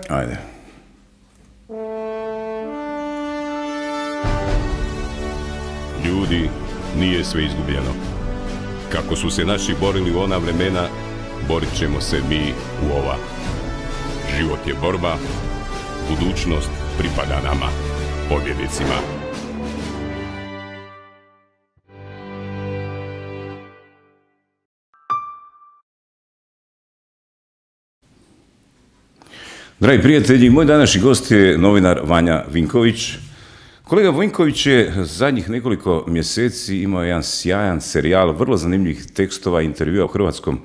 Ajde. Ljudi, nije sve izgubljeno. Kako su se naši borili u ona vremena, borit ćemo se mi u ova. Život je borba, budućnost pripada nama, pobjednicima. Dragi prijatelji, moj današnji gost je novinar Vanja Vinković. Kolega Vinković je zadnjih nekoliko mjeseci imao jedan sjajan serijal, vrlo zanimljivih tekstova i intervjua u Hrvatskom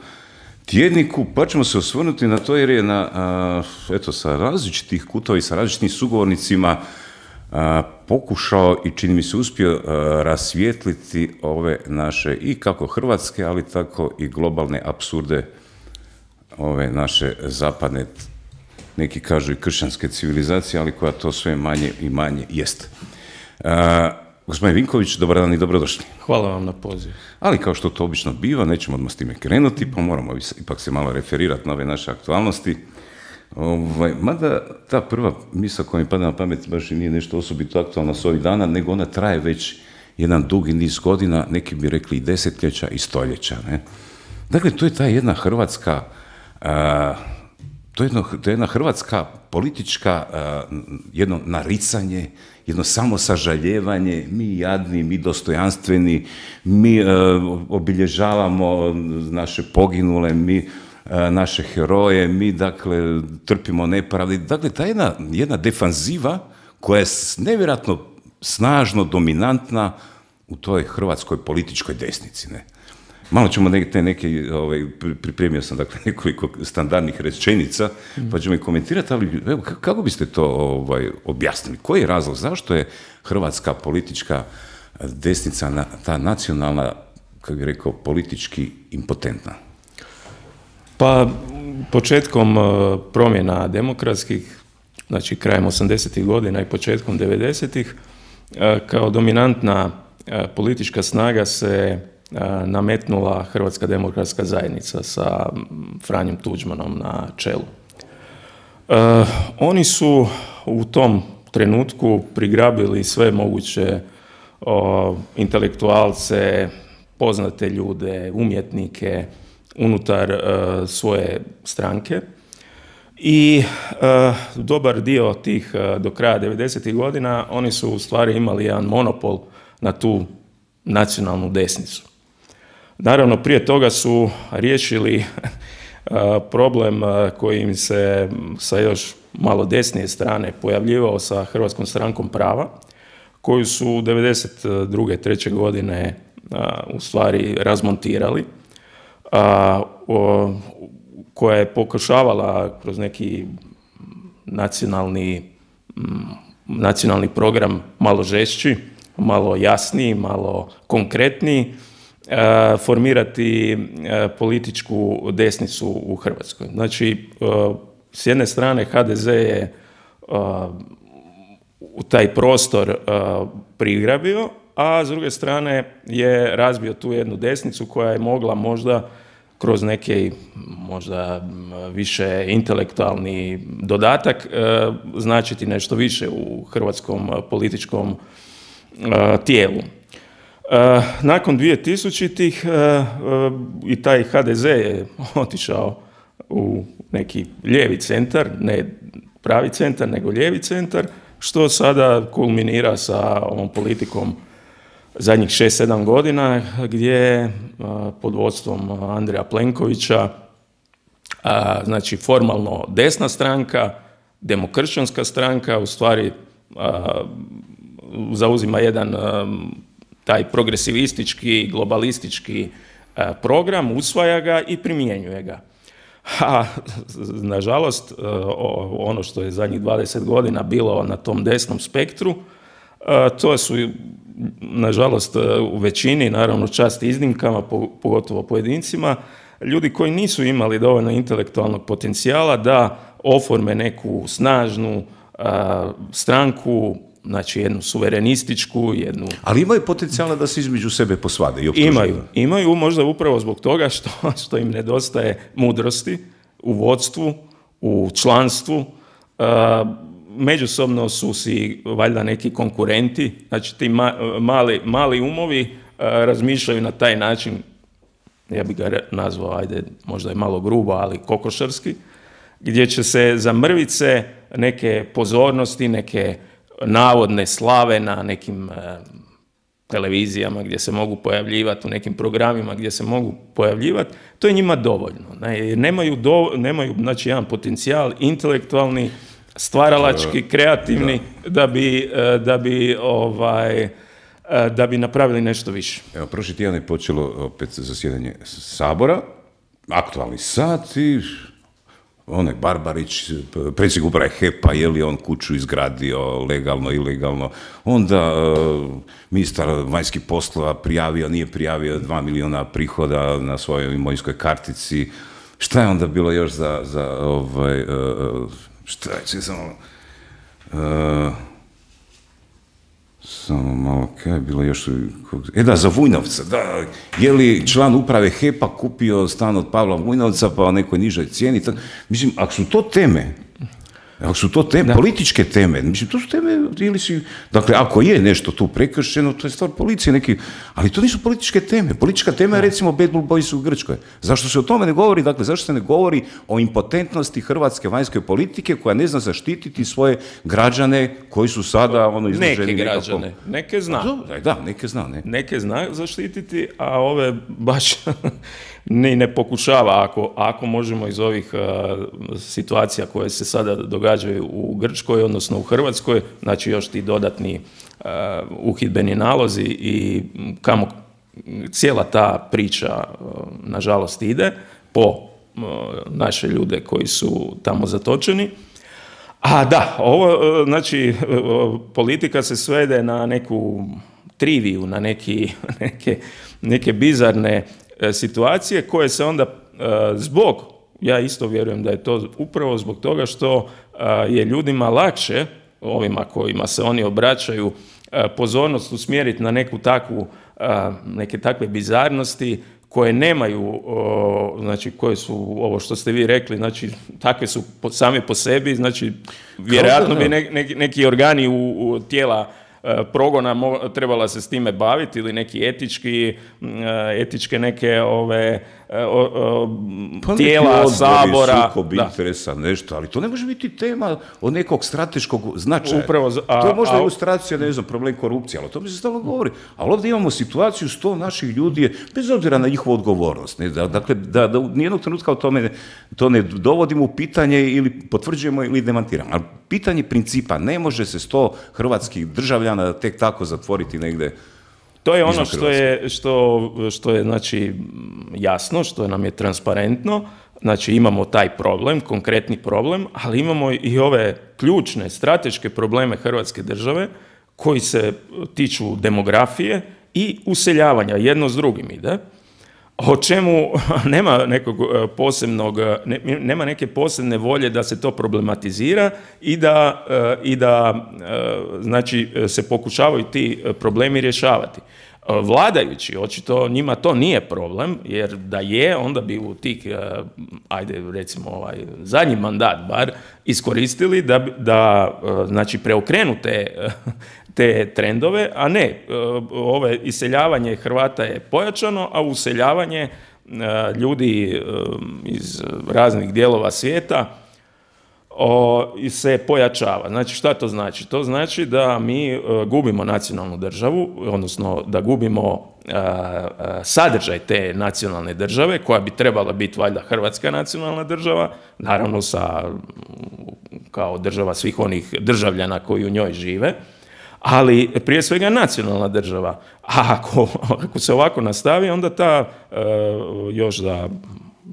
tjedniku, pa ćemo se osvrnuti na to jer je sa različitih kutova i sa različitim sugovornicima pokušao i čini mi se uspio rasvijetliti ove naše i kako hrvatske, ali tako i globalne apsurde ove naše zapadne, neki kažu i kršćanske civilizacije, ali koja to sve manje i manje jest. Gospodin Vinković, dobar dan i dobrodošli. Hvala vam na poziv. Ali kao što to obično biva, nećemo odmah s time krenuti, pa moramo ipak se malo referirati na ove naše aktualnosti. Mada ta prva misao koja mi pada na pamet baš i nije nešto osobito aktualno s ovih dana, nego ona traje već jedan dugi niz godina, neki bi rekli i desetljeća i stoljeća. Ne? Dakle, to je ta jedna hrvatska... To je jedna hrvatska politička, jedno naricanje, jedno samosažaljevanje, mi jadni, mi dostojanstveni, mi obilježavamo naše poginule, mi naše heroje, mi dakle trpimo nepravdi. Dakle, ta jedna defanziva koja je nevjerojatno snažno dominantna u toj hrvatskoj političkoj desnici, ne? Malo ćemo pripremio sam dakle nekoliko standardnih rečenica, pa ćemo ih komentirati, ali evo, kako biste to objasnili? Koji je razlog? Zašto je hrvatska politička desnica, ta nacionalna, kako bih rekao, politički impotentna? Pa, početkom promjena demokratskih, znači krajem 80-ih godina i početkom 90-ih, kao dominantna politička snaga se nametnula Hrvatska demokratska zajednica sa Franjom Tuđmanom na čelu. Oni su u tom trenutku prigrabili sve moguće intelektualce, poznate ljude, umjetnike unutar svoje stranke i dobar dio tih do kraja 90-ih godina oni su u stvari imali jedan monopol na tu nacionalnu desnicu. Naravno, prije toga su riješili problem koji im se sa još malo desnije strane pojavljivao sa Hrvatskom strankom prava, koju su 92. 3. godine u stvari razmontirali, koja je pokušavala kroz neki nacionalni program malo žešći, malo jasniji, malo konkretniji, formirati političku desnicu u Hrvatskoj. Znači, s jedne strane HDZ je u taj prostor prigrabio, a s druge strane je razbio tu jednu desnicu koja je mogla možda kroz neki možda više intelektualni dodatak značiti nešto više u hrvatskom političkom tijelu. Nakon 2000-ih i taj HDZ je otišao u neki lijevi centar, ne pravi centar, nego lijevi centar, što sada kulminira sa ovom politikom zadnjih 6-7 godina, gdje pod vodstvom Andreja Plenkovića, znači formalno desna stranka, demokršćanska stranka, u stvari zauzima jedan taj progresivistički, globalistički program, usvaja ga i primjenjuje ga. A nažalost, ono što je zadnjih 20 godina bilo na tom desnom spektru, to su nažalost u većini, naravno čast iznimkama, pogotovo pojedincima, ljudi koji nisu imali dovoljno intelektualnog potencijala da oforme neku snažnu stranku, znači jednu suverenističku, jednu... Ali imaju potencijala da se između sebe posvade i optužuju. Imaju možda upravo zbog toga što im nedostaje mudrosti u vodstvu, u članstvu, međusobno su si valjda neki konkurenti, znači ti mali umovi razmišljaju na taj način, ja bih ga nazvao, ajde, možda je malo grubo, ali kokošarski, gdje će se za mrvice neke pozornosti, neke navodne slave na nekim televizijama gdje se mogu pojavljivati, u nekim programima gdje se mogu pojavljivati, to je njima dovoljno. Jer nemaju znači, jedan potencijal intelektualni, stvaralački, kreativni, da bi napravili nešto više. Evo, prošli tjedan je počelo opet zasjedanje Sabora, aktualni sat i onaj Barbarić, predsjednik uprave HEP-a, je li on kuću izgradio legalno, ilegalno, onda ministar vanjskih poslova prijavio, nije prijavio 2 milijuna prihoda na svojoj imovinskoj kartici. Šta je onda bilo još šta je, samo malo, kaj je bilo još, za Vujnovca, da, je li član uprave HEP-a kupio stan od Pavla Vujnovca pa o nekoj nižoj cijeni, mislim, ako su to teme, političke teme, mislim, to su teme, dakle, ako je nešto tu prekršeno, to je stvar policije neki, ali to nisu političke teme. Politička tema je, recimo, Bad Blue Boys u Grčkoj. Zašto se o tome ne govori? Dakle, zašto se ne govori o impotentnosti hrvatske vanjske politike koja ne zna zaštititi svoje građane koji su sada izloženi neke građane, neke zna. Da, neke zna, ne. Neke zna zaštititi, a ove baš ne pokušava, ako možemo iz ovih situacija koje se sada događaju u Grčkoj, odnosno u Hrvatskoj, znači još ti dodatni uhidbeni nalozi i kamo cijela ta priča nažalost ide po naše ljude koji su tamo zatočeni. A da, ovo, znači, politika se svede na neku triviju, na neke bizarne situacije koje se onda ja isto vjerujem da je to upravo zbog toga što je ljudima lakše, ovima kojima se oni obraćaju, pozornost usmjeriti na neke takve bizarnosti koje nemaju, znači koje su, ovo što ste vi rekli, znači takve su same po sebi, znači vjerojatno bi neki organi u tijela progona trebala se s time baviti ili neki etičke neke tijela, Sabora. Sukob interesa, nešto, ali to ne može biti tema od nekog strateškog značaja. To je možda ilustracija, ne znam, problem korupcije, ali o tome se stalno govori. Ali ovdje imamo situaciju 100 naših ljudi, bez obzira na njihovu odgovornost. Dakle, da nijednog trenutka o tome to ne dovodimo u pitanje ili potvrđujemo ili demantiramo. Ali pitanje principa, ne može se 100 hrvatskih državljana tek tako zatvoriti negdje. To je ono što je znači, jasno, što nam je transparentno. Znači imamo taj problem, konkretni problem, ali imamo i ove ključne, strateške probleme Hrvatske države koji se tiču demografije i useljavanja, jedno s drugim ide, o čemu nema nekog nema neke posebne volje da se to problematizira i da znači se pokušavaju ti problemi rješavati. Vladajući, očito njima to nije problem, jer da je, onda bi u tih, ajde recimo zadnji mandat bar, iskoristili da znači preokrenu te trendove, a ne, iseljavanje Hrvata je pojačano, a useljavanje ljudi iz raznih dijelova svijeta se pojačava. Znači, šta to znači? To znači da mi gubimo nacionalnu državu, odnosno da gubimo sadržaj te nacionalne države, koja bi trebala biti valjda hrvatska nacionalna država, naravno kao država svih onih državljana koji u njoj žive, ali prije svega nacionalna država. A ako se ovako nastavi, onda još za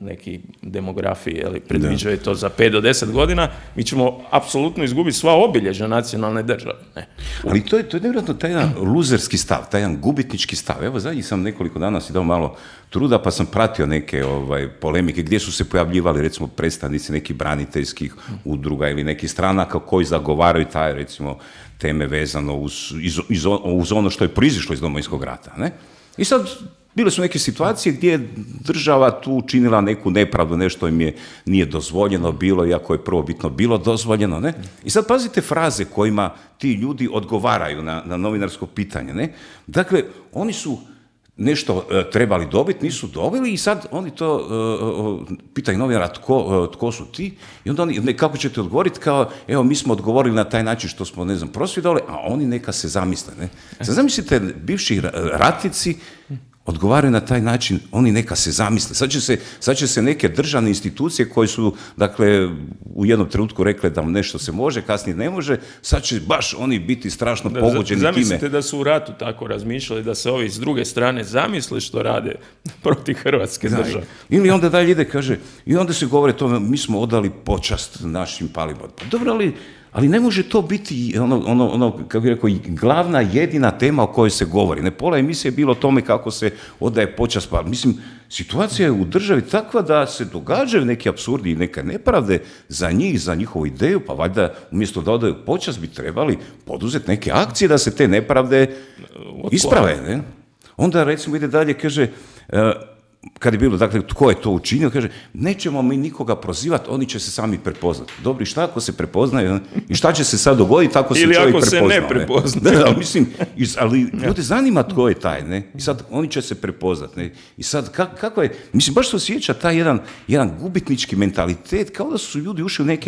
neki demografiji predviđaju to za 5 do 10 godina, mi ćemo apsolutno izgubiti sva obilježja nacionalne države. Ne? Ali to je nevjerojatno taj jedan luzerski stav, taj jedan gubitnički stav. Evo, zadnjih sam nekoliko dana si dao malo truda, pa sam pratio neke polemike gdje su se pojavljivali, recimo, predstavnici nekih braniteljskih udruga ili nekih stranaka koji zagovaraju taj, recimo, teme vezano uz ono što je proizišlo iz Domovinskog rata. Ne? I sad bile su neke situacije gdje je država tu učinila neku nepravdu, nešto im nije dozvoljeno bilo, iako je prvobitno bilo dozvoljeno, ne? I sad pazite fraze kojima ti ljudi odgovaraju na novinarsko pitanje, ne? Dakle, oni su nešto trebali dobiti, nisu dobili i sad oni to pitaju novinara tko su ti i onda oni, kako ćete odgovoriti, kao evo mi smo odgovorili na taj način što smo, ne znam, prosvjedovali, a oni neka se zamisle, ne? Sad zamislite, bivši ratnici odgovaraju na taj način, oni neka se zamisle. Sad će se neke državne institucije koje su, dakle, u jednom trenutku rekle da nešto se može, kasnije ne može, sad će baš oni biti strašno pogođeni time. Zamislite da su u ratu tako razmišljali, da se ovi s druge strane zamisle što rade protiv Hrvatske države. Ili onda dalje ide, kaže, i onda se govore tome, mi smo odali počast našim palima. Dobro, ali ne može to biti kako bih rekao, glavna, jedina tema o kojoj se govori. Ne, pola emisije je bilo o tome kako se odaje počast. Pa, mislim, situacija je u državi takva da se događaju neki apsurdi i neke nepravde za njih, za njihovu ideju, pa valjda umjesto da odaju počast bi trebali poduzeti neke akcije da se te nepravde isprave. Ne? Onda, recimo, ide dalje, kaže, kad je bilo, dakle, tko je to učinio, kaže, nećemo mi nikoga prozivati, oni će se sami prepoznati. Dobro, i šta ako se prepoznaju? I šta će se sad dogoditi ako se čovjek prepoznao? Ili ako se ne prepoznaju. Da, mislim, ali ljude zanima tko je taj, ne? I sad oni će se prepoznati, ne? I sad, kako je, mislim, baš se osjeća taj jedan gubitnički mentalitet, kao da su ljudi ušli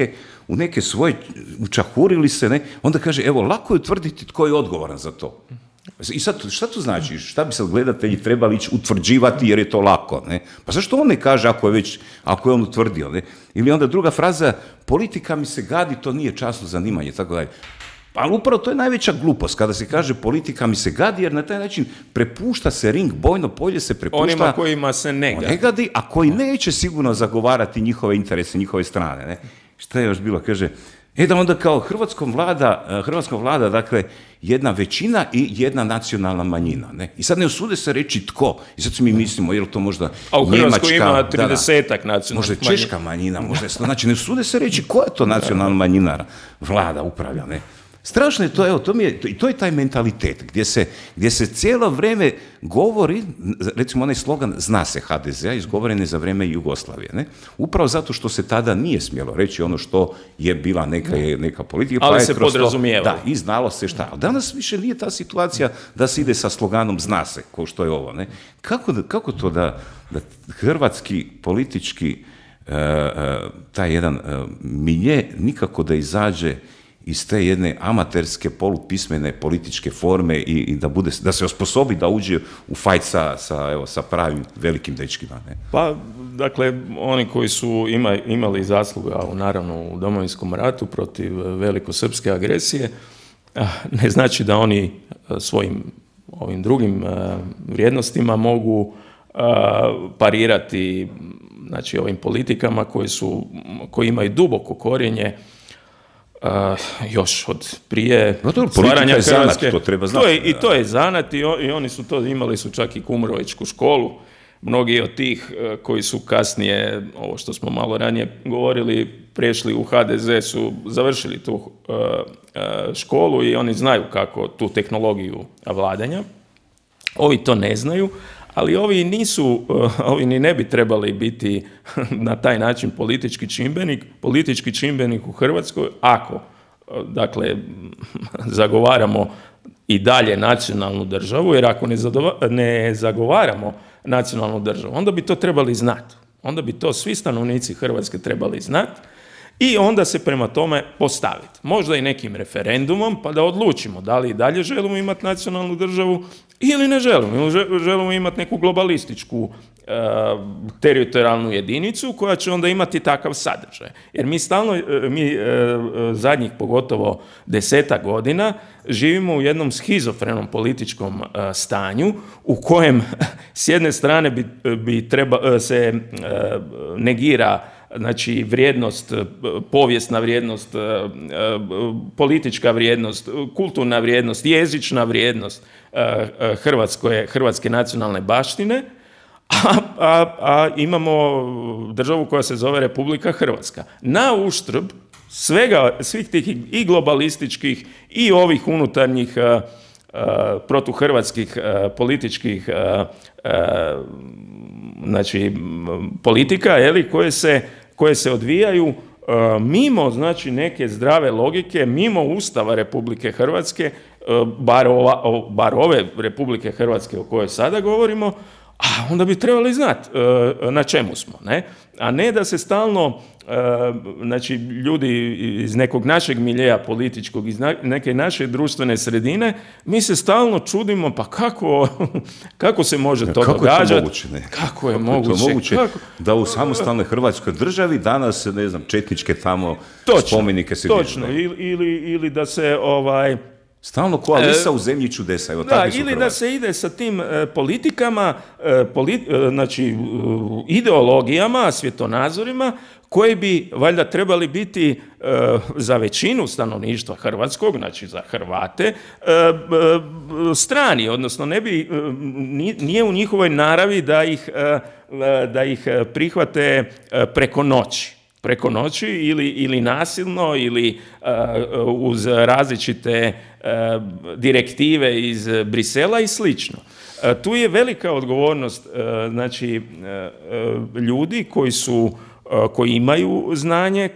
u neke svoje, učahurili se, ne? Onda kaže, evo, lako je utvrditi tko je odgovoran za to. I sad, šta to znači? Šta bi sad gledatelji trebali ići utvrđivati jer je to lako, ne? Pa zašto on ne kaže ako je on utvrdio, ne? Ili onda druga fraza, politika mi se gadi, to nije časno zanimanje, tako dalje. Ali upravo to je najveća glupost, kada se kaže politika mi se gadi, jer na taj način prepušta se ring, bojno polje se prepušta onima kojima se ne gadi, a koji neće sigurno zagovarati njihove interese, njihove strane, ne? Šta je još bilo? Kaže, da onda kao Hrvatskom vlada, dakle, jedna većina i jedna nacionalna manjina, ne? I sad ne usude se reći tko. I sad mi mislimo, je li to možda Njemačka... A u Hrvatskoj ima 30-ak nacionalnih manjina. Možda je češka manjina, znači ne usude se reći koja je to nacionalna manjina vlada upravlja, ne? Strašno je to, evo, to je taj mentalitet gdje se cijelo vrijeme govori, recimo onaj slogan zna se HDZ-a, izgovoren je za vrijeme Jugoslavije, ne? Upravo zato što se tada nije smjelo reći ono što je bila neka politika. Ali se podrazumijeva. Da, i znalo se šta. A danas više nije ta situacija da se ide sa sloganom zna se, kao što je ovo, ne? Kako to da hrvatski politički taj jedan milje nikako da izađe iz te jedne amaterske, polupismene političke forme i da se osposobi da uđe u fajt sa pravim velikim dečkima. Ne? Pa, dakle, oni koji su imali zasluga, naravno, u Domovinskom ratu protiv velikosrpske agresije, ne znači da oni svojim ovim drugim vrijednostima mogu parirati, znači, ovim politikama koji imaju duboko korijenje još od prije stvaranja Hrvatske. To treba znati. I to je zanat i oni su to, imali su čak i Kumrovićku školu. Mnogi od tih koji su kasnije, ovo što smo malo ranije govorili, prešli u HDZ su završili tu školu i oni znaju kako tu tehnologiju vladanja. Ovi to ne znaju, ali ovi ni ne bi trebali biti na taj način politički čimbenik u Hrvatskoj ako, dakle, zagovaramo i dalje nacionalnu državu, jer ako ne zagovaramo nacionalnu državu, onda bi to trebali znati. Onda bi to svi stanovnici Hrvatske trebali znati i onda se prema tome postaviti. Možda i nekim referendumom, pa da odlučimo da li i dalje želimo imati nacionalnu državu ili ne želimo. Ili želimo imati neku globalističku teritorijalnu jedinicu koja će onda imati takav sadržaj. Jer mi zadnjih pogotovo 10 godina živimo u jednom schizofrenom političkom stanju u kojem s jedne strane se negira, znači, vrijednost, povijesna vrijednost, politička vrijednost, kulturna vrijednost, jezična vrijednost hrvatske nacionalne baštine, a imamo državu koja se zove Republika Hrvatska. Na uštrb svih tih i globalističkih i ovih unutarnjih protuhrvatskih političkih znači, politika, koje se odvijaju mimo, znači, neke zdrave logike, mimo Ustava Republike Hrvatske, bar ove Republike Hrvatske o kojoj sada govorimo, a onda bi trebali znati na čemu smo, ne? A ne da se stalno, znači, ljudi iz nekog našeg miljeja političkog, iz neke naše društvene sredine, mi se stalno čudimo, pa kako se može to događati? Kako je moguće? Da u samostalnoj Hrvatskoj državi danas, ne znam, četničke tamo spomenike se dižu. Točno, ili da se stalno ko Alisa u zemlji čudesa. Evo, da, ili da se ide sa tim politikama, znači ideologijama, svjetonazorima, koji bi valjda trebali biti za većinu stanovništva hrvatskog, znači za Hrvate, strani, odnosno nije u njihovoj naravi da ih prihvate preko noći ili nasilno ili uz različite direktive iz Brisela i slično. Tu je velika odgovornost, znači, ljudi koji imaju znanje,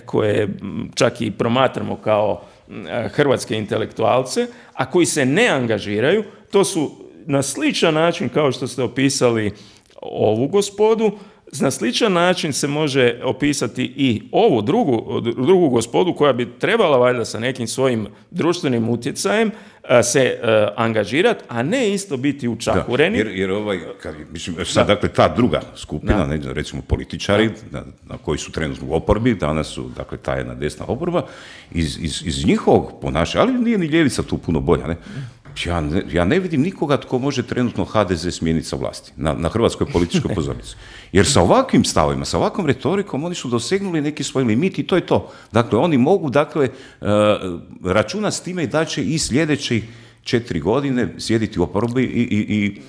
koje čak i promatramo kao hrvatske intelektualce, a koji se ne angažiraju. To su na sličan način kao što ste opisali ovu gospodu, na sličan način se može opisati i ovu drugu gospodu koja bi trebala valjda sa nekim svojim društvenim utjecajem se angažirati, a ne isto biti učahureni. Jer sad, dakle, ta druga skupina, recimo političari, na koji su trenutno u oporbi, danas su, dakle, ta jedna desna oporba, iz njihovog ponašanja, ali nije ni ljevica tu puno bolja, ne? Ja ne vidim nikoga tko može trenutno HDZ smijeniti sa vlasti na hrvatskoj političkoj pozornici. Jer sa ovakvim stavovima, sa ovakvom retorikom, oni su dosegnuli neki svoj limit i to je to. Dakle, oni mogu, dakle, računati s time i da će i sljedećih 4 godine sjediti u oporbi i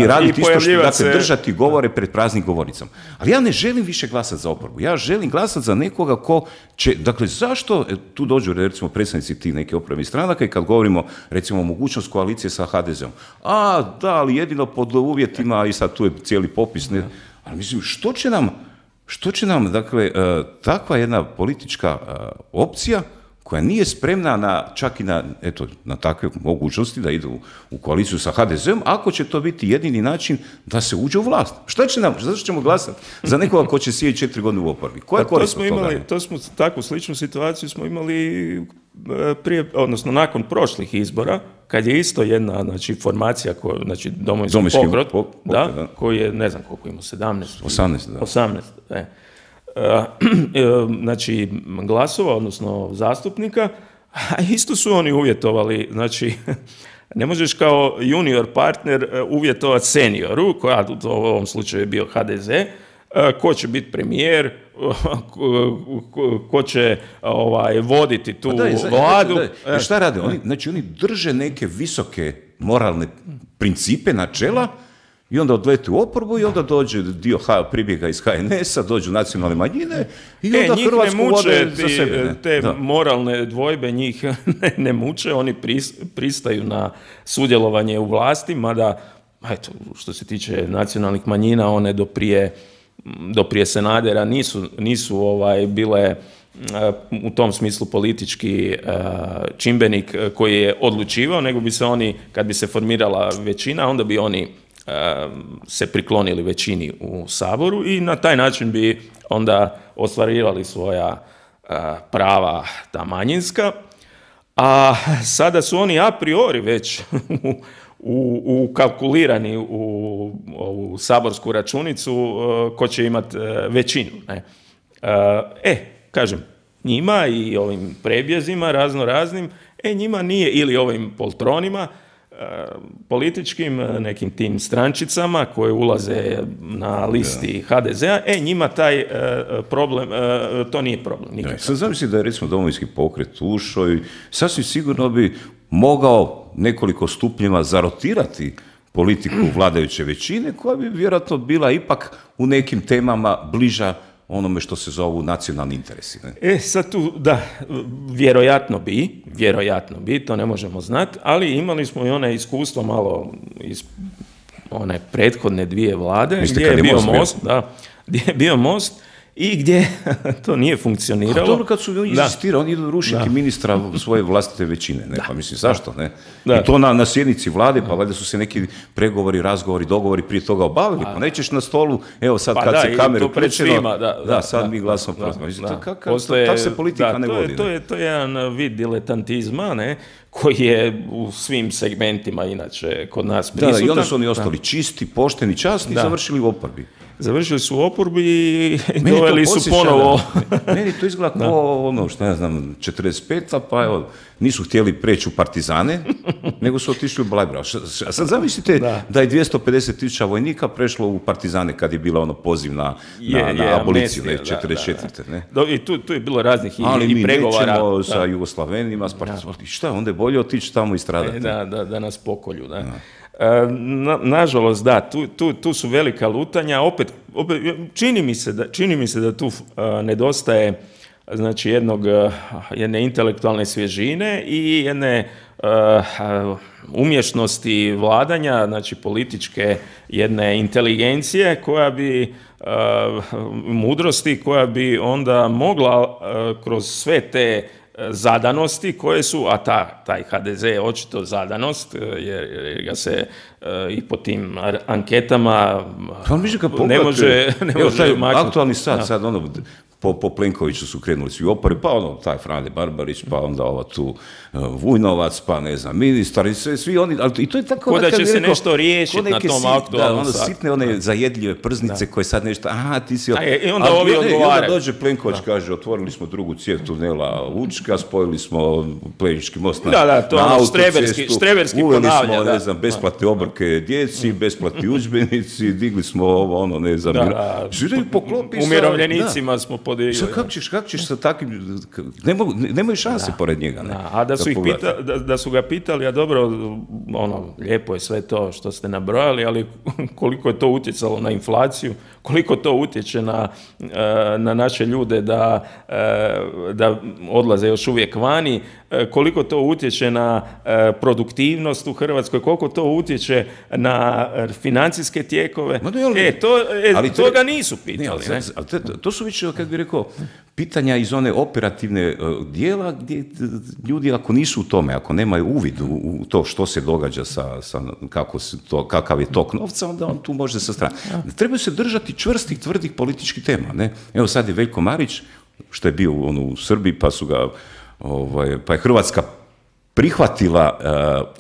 raditi isto što, dakle, držati govore pred praznim govornicama. Ali ja ne želim više glasati za oporbu. Ja želim glasati za nekoga ko će, dakle, zašto tu dođu, recimo, predstavnici tih neke oporbenih stranaka i kad govorimo, recimo, o mogućnost koalicije sa HDZ-om. Da, ali jedino pod uvjetima, i sad tu je cijeli popis, ne, ali mislim, što će nam, dakle, takva jedna politička opcija koja nije spremna čak i na takve mogućnosti da idu u koaliciju sa HDZ-om, ako će to biti jedini način da se uđe u vlast. Što će nam? Zašto ćemo glasati za nekoga ko će sjediti 4 godine u oporbi? Koja je korist od toga? Takvu sličnu situaciju smo imali prije, odnosno nakon prošlih izbora, kad je isto jedna, znači, formacija, znači Domovinski pokret, koji je, ne znam koliko ima, 18, znači, glasova, odnosno zastupnika, a isto su oni uvjetovali, znači, ne možeš kao junior partner uvjetovati senioru, koja u ovom slučaju je bio HDZ, ko će biti premijer, ko će voditi tu vladu. Šta rade? Oni drže neke visoke moralne principe, načela, i onda odlete u oporbu i onda dođe dio pribjega iz HNS-a, dođu nacionalne manjine i onda Hrvatsku vode za sebe. Te moralne dvojbe njih ne muče, oni pristaju na sudjelovanje u vlasti, mada, eto, što se tiče nacionalnih manjina, one do prije Sanadera nisu bile u tom smislu politički čimbenik koji je odlučivao, nego bi se oni, kad bi se formirala većina, onda bi oni se priklonili većini u Saboru i na taj način bi onda ostvarivali svoja prava, ta manjinska, a sada su oni a priori već ukalkulirani u ovu saborsku računicu ko će imati većinu. Ne? Kažem, njima i ovim prebjezima raznoraznim, njima nije, ili ovim poltronima, političkim, nekim tim strančicama koje ulaze na listi HDZ-a, njima taj problem, to nije problem. Sad zamisli da je, recimo, Domovinski pokret ušao i sasvim sigurno bi mogao nekoliko stupnjeva zarotirati politiku vladajuće većine, koja bi vjerojatno bila ipak u nekim temama bliža onome što se zovu nacionalni interesi. Ne? Sad tu, da, vjerojatno bi, to ne možemo znati, ali imali smo i one iskustvo malo iz one prethodne 2 vlade, gdje je bio Most, gdje je bio Most, i gdje to nije funkcioniralo. A dobro, kad su insistirali, oni idu rušiti ministra svoje vlastite većine, ne? Pa mislim, zašto, ne? I to na sjednici vlade, pa valjda su se neki pregovori, razgovori, dogovori prije toga obavili, pa nećeš na stolu, evo sad kad se kamere uključeno, sad mi glasno protiv. Tako se politika ne vodi. To je jedan vid diletantizma, ne? Koji je u svim segmentima inače kod nas prisutan. I onda su oni ostali čisti, pošteni, časni i završili u oporbi. Završili su u oporbi i doveli su ponovo... Meni to izgleda kao ono, što ja znam, 45-a, pa evo, nisu htjeli preći u partizane, nego su otišli u Bleiburg. A sad zamislite da je 250.000 vojnika prešlo u partizane kad je bila ono poziv na aboliciju, 44. Ne? I tu je bilo raznih i pregovara. Ali mi nećemo sa Jugoslavenima, s partizanima. Šta, onda je bolje otići tamo i stradati. Da nas pokolju, da. Nažalost, da, tu su velika lutanja, opet čini mi se da tu nedostaje znači jedne intelektualne svježine i jedne umješnosti vladanja, znači političke jedne inteligencije koja bi mudrosti koja bi onda mogla kroz sve te zadanosti koje su, a taj HDZ je očito zadanost, jer ga se i po tim anketama ne može maknuti. Aktualni sad ono, po Plenkoviću su krenuli svi opori, pa ono, taj Frane Barbarić, pa onda ova tu Vujnovac, pa ne znam, ministar, i svi oni, ali i to je tako... Da će se nešto riješiti na tom aktualnom satu. Sitne one zajedljive prznice koje sad nešto, ti si... I onda ovi odgovaraju. I onda dođe Plenković, kaže, otvorili smo drugu cijev tunela Učka, spojili smo Plenički most na autocestu, uveli smo, ne znam, besplatne obroke djeci, besplatni udžbenici, digli smo ovo, ono, ne znam... Umirovljenicima smo podigli. Kako ćeš sa takvim... Nemaju šanse pored njega, ne? A da su ga pitali, a dobro, ono, lijepo je sve to što ste nabrojali, ali koliko je to utjecalo na inflaciju, koliko to utječe na naše ljude da odlaze još uvijek vani, koliko to utječe na produktivnost u Hrvatskoj, koliko to utječe na financijske tijekove. Toga nisu pitali. To su više, kad bih rekao, pitanja iz one operativne dijela gdje ljudi ako nisu u tome, ako nemaju uvid u to što se događa kakav je tok novca, onda on tu može sa strane. Trebaju se držati čvrstih, tvrdih političkih tema. Ne? Evo sad je Veljko Marić, što je bio u Srbiji, pa je Hrvatska prihvatila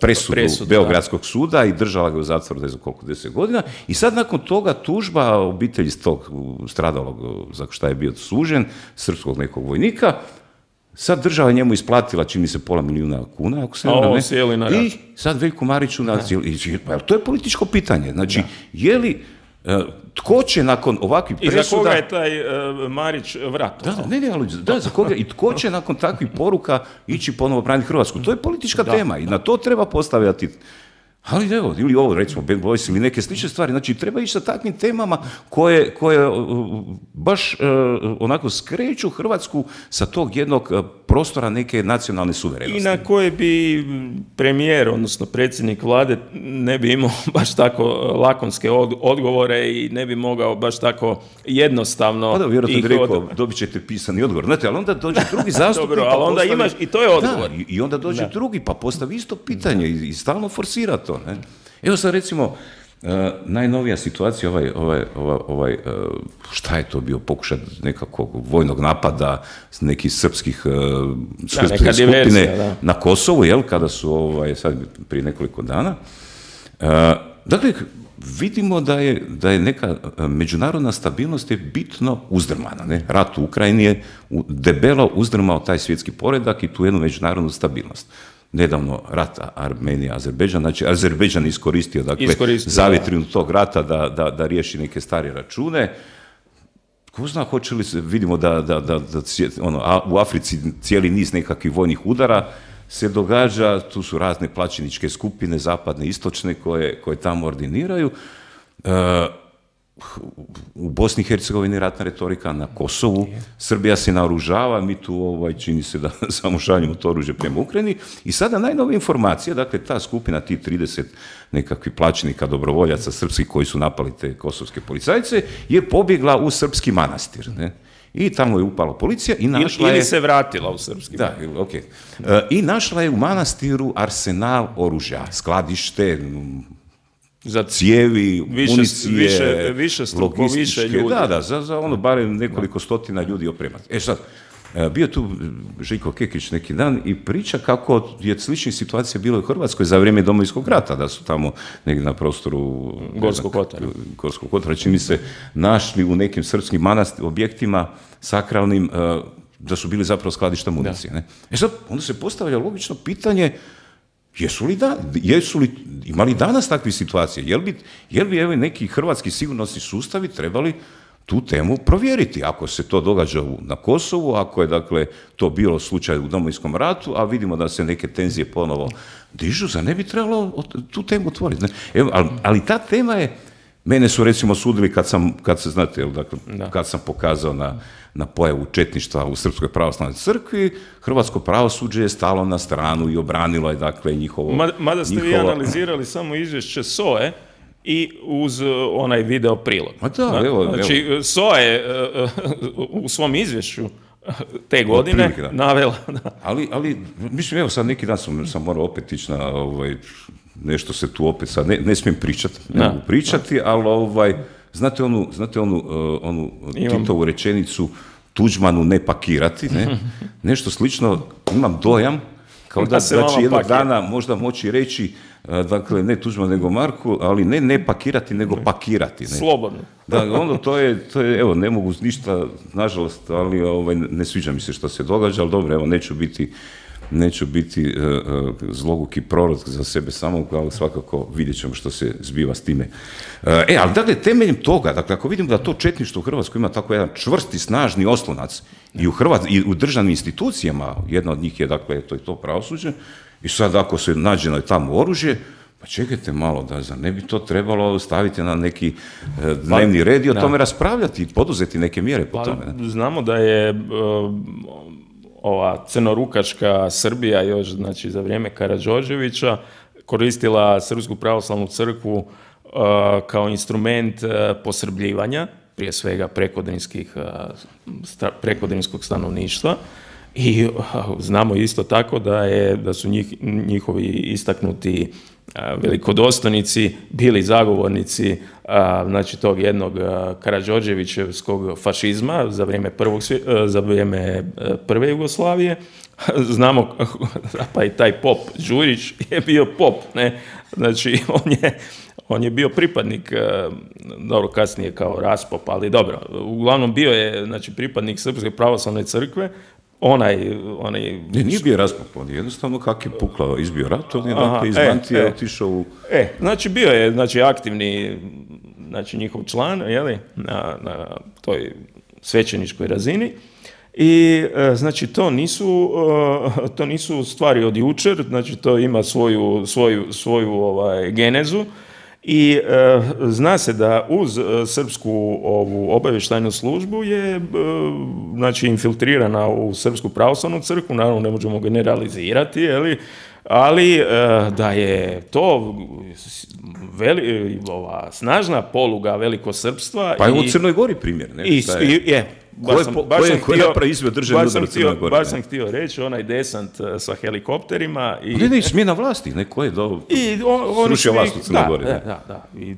presudu Beogradskog suda i držala ga u zatvoru, ne znam koliko, 10 godina, i sad nakon toga tužba obitelji tog stradalog, za šta je bio sužen, srpskog nekog vojnika, sad država njemu isplatila, čini se, $500.000 kuna, ako se ne, i sad Veljko Mariću to je političko pitanje. Znači, je li tko će nakon ovakvih presuda... I za koga je taj Marić vratio? Za koga? I tko će nakon takvih poruka ići ponovo braniti Hrvatsku? To je politička tema i na to treba postavljati. Ali evo, ili ovo, recimo, Bad Boys ili neke slične stvari. Znači, treba ići sa takvim temama koje baš onako skreću Hrvatsku sa tog jednog prostora neke nacionalne suverenosti. I na koje bi premijer, odnosno predsjednik vlade, ne bi imao baš tako lakonske odgovore i ne bi mogao baš tako jednostavno... Pa da, vjerojatno bi rekao, dobit ćete pisani odgovor. Znate, ali onda dođe drugi zastupnik... Dobro, ali onda imaš, i to je odgovor. I onda dođe drugi, pa postavi isto pitanje i stalno forsira to. Ne? Evo sad recimo najnovija situacija, šta je to bio pokušaj nekakvog vojnog napada nekih srpskih skupine na Kosovu, kada su sad prije nekoliko dana. Dakle, vidimo da je neka međunarodna stabilnost je bitno uzdrmana. Ne? Rat u Ukrajini je debelo uzdrmao taj svjetski poredak i tu jednu međunarodnu stabilnost. Nedavno rat Armenija-Azerbejdžan, znači Azerbejdžan iskoristio zavjetrinu tog rata da riješi neke stare račune. Ko zna, hoće li se, vidimo da u Africi cijeli niz nekakvih vojnih udara se događa, tu su razne plaćeničke skupine, zapadne, istočne, koje tamo ordiniraju. u Bosni i Hercegovini ratna retorika, na Kosovu, Srbija se naoružava, mi tu čini se da samo šaljemo to oružje prema Ukrajini i sada najnove informacije, dakle ta skupina, ti 30 nekakvih plaćenika, dobrovoljaca srpskih koji su napali te kosovske policajce, je pobjegla u srpski manastir, ne? I tamo je upala policija i našla je... Ili se vratila u srpski. Da, ok. I našla je u manastiru arsenal oružja, skladište, za cijevi, municije, više ljudi. Da, za ono barem nekoliko stotina ljudi opremati. Sad, bio tu Željko Kekić neki dan i priča kako je sličnih situacija bilo u Hrvatskoj za vrijeme Domovinskog rata, da su tamo negdje na prostoru Gorskog Kotara, čini se, našli u nekim srpskim objektima sakralnim, da su bili zapravo skladišta municije. Ne? Sad, onda se postavlja logično pitanje, imali danas takve situacije? Jel bi evo neki hrvatski sigurnosni sustavi trebali tu temu provjeriti, ako se to događa na Kosovu, ako je dakle to bilo slučaj u Domovinskom ratu, a vidimo da se neke tenzije ponovo dižu, za ne bi trebalo tu temu otvoriti. Ali ta tema je, mene su recimo sudili kad sam pokazao na pojavu četništva u Srpskoj pravoslavnoj crkvi, hrvatsko pravosuđe je stalo na stranu i obranilo je dakle njihovo... Mada ste vi analizirali samo izvješće SOA-e i uz onaj video prilog. Znači, SOA je u svom izvješću te godine navela... Ali, mislim, evo sad neki dan sam morao opet ići na nešto se tu opet sad, ne smijem pričati, ali znate onu Titovu rečenicu Tuđmanu ne pakirati, ne? Nešto slično, imam dojam kao da će jednog dana možda moći reći, dakle, ne Tuđman nego Marku, ali ne pakirati, nego pakirati. Ne? Slobodno. Da, ono, to je, evo, ne mogu ništa, nažalost, ali ne sviđa mi se što se događa, ali dobro, evo, neću biti zloguki prorok za sebe samog, ali svakako vidjet ćemo što se zbiva s time. Ali dakle, temeljem toga, dakle, ako vidimo da to četništvo u Hrvatskoj ima tako jedan čvrsti, snažni oslonac i u državnim institucijama, jedna od njih je, dakle, to pravosuđe, i sad ako se nađe na tamo oružje, pa čekajte malo, da ne bi to trebalo staviti na neki dnevni red i o tome raspravljati i poduzeti neke mjere po tome. Znamo da je ova crnorukaška Srbija još, znači, za vrijeme Karađorđevića koristila Srpsku pravoslavnu crkvu kao instrument posrbljivanja, prije svega prekodrinskog stanovništva. I znamo isto tako da su njihovi istaknuti velikodostojnici bili zagovornici znači tog jednog Karađorđevićevskog fašizma za vrijeme prve Jugoslavije. Znamo, pa i taj pop Đurić je bio pop, ne? Znači on je bio pripadnik, dobro, kasnije kao raspop, ali dobro, uglavnom bio je, znači, pripadnik Srpske pravoslavne crkve. Nije bio raspop, on je jednostavno kak je pukla, izbio rat, on je dakle iz Mantije otišao u... Znači bio je, znači, aktivni, znači, njihov član, jeli, na toj svećeničkoj razini. I znači to nisu stvari od jučer, znači to ima svoju genezu. I zna se da uz srpsku ovu obavještajnu službu je znači infiltrirana u Srpsku pravoslavnu crkvu, naravno ne možemo generalizirati, ali da je to snažna poluga velikosrpstva. Pa je u Crnoj Gori primjer, ne? Ko je napravi izveo državni udar u Crnoj Gori? Baš sam htio reći, onaj desant sa helikopterima. Ne, smjena vlasti, neko je srušio vlast u Crnoj Gori. Da. I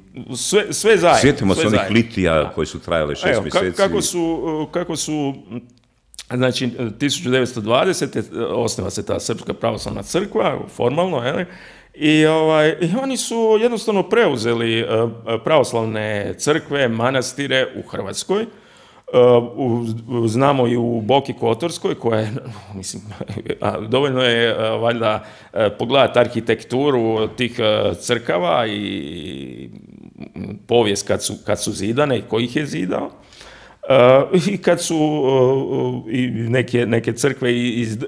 sve zajedno. Sjetimo se onih litija koji su trajale 6 mjeseci. Kako su, znači, 1920. osniva se ta Srpska pravoslavna crkva, formalno, i oni su jednostavno preuzeli pravoslavne crkve, manastire u Hrvatskoj. Znamo i u Boki Kotorskoj, koja je, mislim, dovoljno je valjda pogledati arhitekturu tih crkava i povijest kad su zidane i ko ih je zidao. I kad su i neke crkve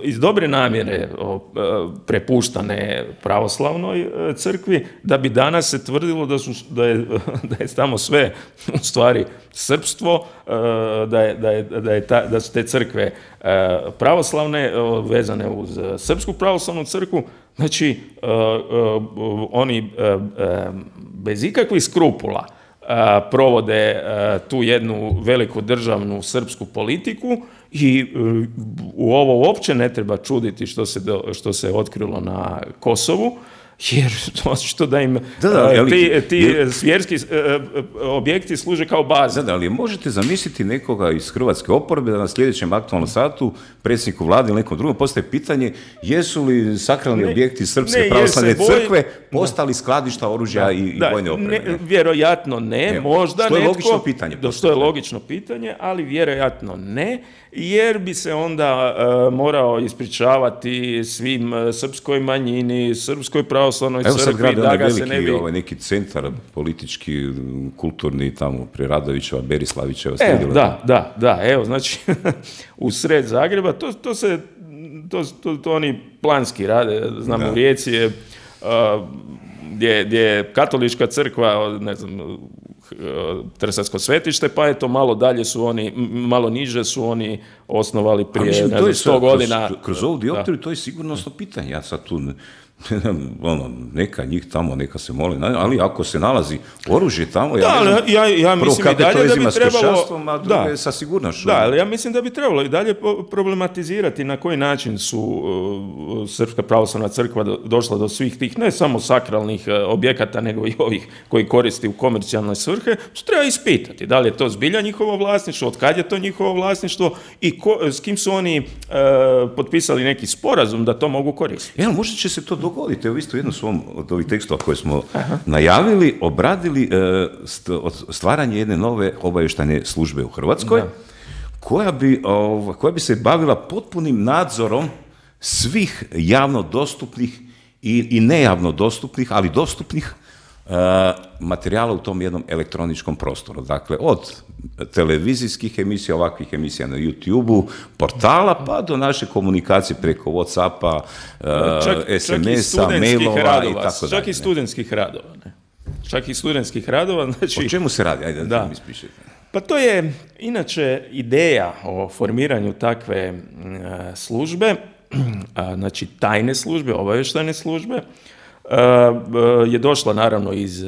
iz dobre namjere prepuštane pravoslavnoj crkvi, da bi danas se tvrdilo da je tamo sve u stvari srpstvo, da su te crkve pravoslavne, vezane uz srpsku pravoslavnu crkvu. Znači, oni bez ikakvih skrupula provode tu jednu veliku državnu srpsku politiku i u ovo uopće ne treba čuditi što se otkrilo na Kosovu, jer očito da im ti svjerski objekti služe kao baza. Da, ali možete zamisliti nekoga iz hrvatske oporbe da na sljedećem aktualnom satu predsjedniku vlade ili nekom drugom postaje pitanje jesu li sakralni objekti Srpske pravoslavne crkve postali skladišta oružja i vojne opreme? Vjerojatno ne, možda što je netko. Logično pitanje. Što je logično pitanje, ali vjerojatno ne, jer bi se onda morao ispričavati svim srpskoj manjini, srpskoj pravoslavnoj crkvi, da ga se ne bi... neki centar politički, kulturni tamo pri Radovićeva, Berislavićeva. Da, evo, znači u sred Zagreba, to oni planski rade, znamo u Rijeci je gdje je katolička crkva, ne znam, Trsatsko svetište, pa eto malo dalje su oni, malo niže su oni osnovali prije 100 godina. Kroz ovu dioptriju to je sigurnosno pitanje. Ja sad tu neka njih tamo, neka se moli, ali ako se nalazi oružje tamo, ja mislim i dalje da bi trebalo, a druge sa sigurnošću. Da, ali ja mislim da bi trebalo i dalje problematizirati na koji način su Srpska pravoslavna crkva došla do svih tih, ne samo sakralnih objekata, nego i ovih koji koristi u komercijalne svrhe. To treba ispitati. Da li je to zbilja njihovo vlasništvo, od kad je to njihovo vlasništvo i s kim su oni potpisali neki sporazum da to mogu koristiti. Možda će se to dogoditi. Evo isto jedno svom od ovih tekstova koje smo najavili, obradili stvaranje jedne nove obavještajne službe u Hrvatskoj, koja bi se bavila potpunim nadzorom svih javno dostupnih i nejavno dostupnih, ali dostupnih materijala u tom jednom elektroničkom prostoru. Dakle, od televizijskih emisija, ovakvih emisija na YouTube-u, portala, pa do naše komunikacije preko WhatsAppa, SMS-a, mailova i tako dalje. Čak i studentskih radova. Čak i studentskih radova. Znači, o čemu se radi? Ajde da mi ispišete. Pa to je inače ideja o formiranju takve službe, znači tajne službe, obavještajne službe, je došla naravno iz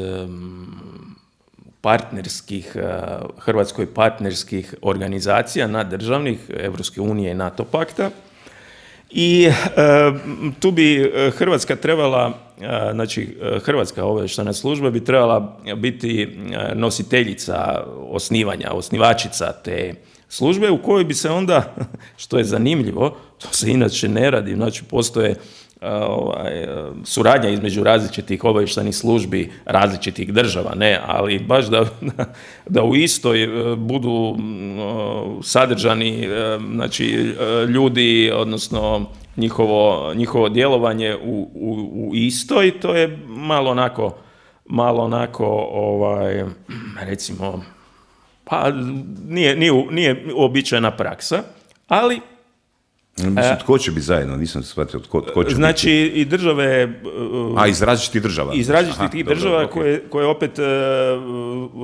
Hrvatskoj partnerskih organizacija nadržavnih, Evropske unije i NATO pakta. I tu bi Hrvatska trebala, znači Hrvatska obavještajna služba bi trebala biti nositeljica osnivačica te službe u kojoj bi se onda, što je zanimljivo, to se inače ne radi, znači postoje suradnja između različitih obavještajnih službi različitih država, ne, ali baš da u istoj budu sadržani, znači ljudi, odnosno njihovo djelovanje u istoj, to je malo onako recimo, pa nije uobičajena praksa, ali mislim, tko će biti zajedno? Nisam shvatio tko će biti. Znači i države... iz različitih država. Iz različitih država koje opet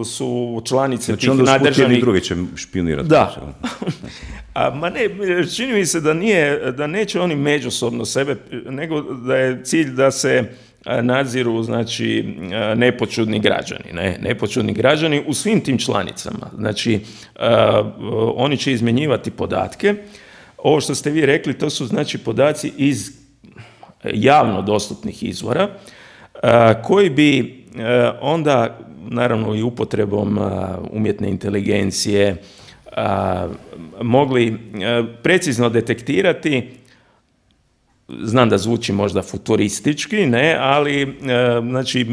su članice tih nadržavnih... Znači onda jedni druge će špionirati. Da. Ma ne, čini mi se da neće oni međusobno sebe, nego da je cilj da se nadziru, znači, nepoćudni građani u svim tim članicama. Znači, oni će izmjenjivati podatke. Ovo što ste vi rekli, to su znači podaci iz javno dostupnih izvora, koji bi onda, naravno i upotrebom umjetne inteligencije, mogli precizno detektirati, znam da zvuči možda futuristički, ne, ali znači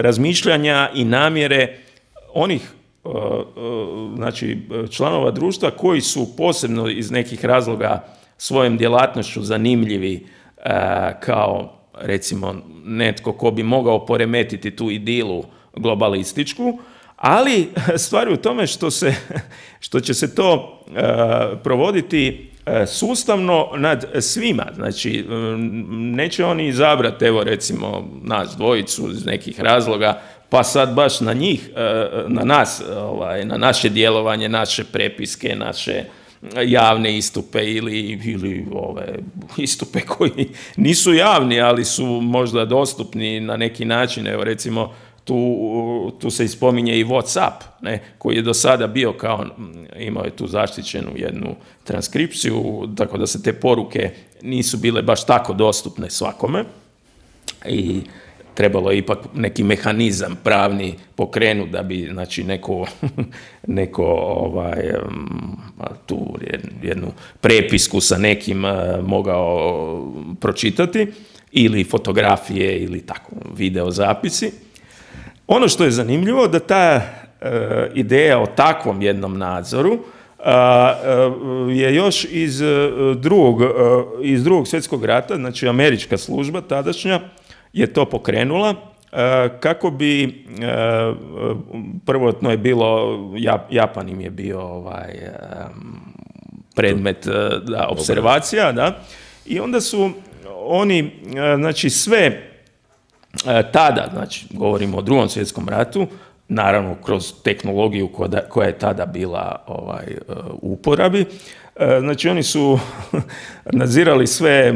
razmišljanja i namjere onih znači članova društva koji su posebno iz nekih razloga svojom djelatnošću zanimljivi kao recimo netko ko bi mogao poremetiti tu idilu globalističku, Ali stvar je u tome što će se to provoditi sustavno nad svima. Znači, neće oni izabrati, evo recimo, nas dvojicu iz nekih razloga, pa sad baš na njih, na nas, na naše djelovanje, naše prepiske, naše javne istupe ili ove istupe koji nisu javni, ali su možda dostupni na neki način. Evo recimo, tu se ispominje i WhatsApp, ne, koji je do sada bio kao, imao je tu zaštićenu jednu transkripciju, tako da se te poruke nisu bile baš tako dostupne svakome i trebalo je ipak neki mehanizam pravni pokrenuti da bi, znači, neko tu jednu prepisku sa nekim mogao pročitati, ili fotografije ili tako, video zapisi. Ono što je zanimljivo, da ta ideja o takvom jednom nadzoru je još iz drugog svjetskog rata, znači američka služba tadašnja je to pokrenula kako bi, prvotno je bilo, Japan im je bio predmet observacija, da, i onda su oni, znači, sve tada, znači govorimo o Drugom svjetskom ratu, naravno kroz tehnologiju koja je tada bila u uporabi, znači oni su nadzirali sve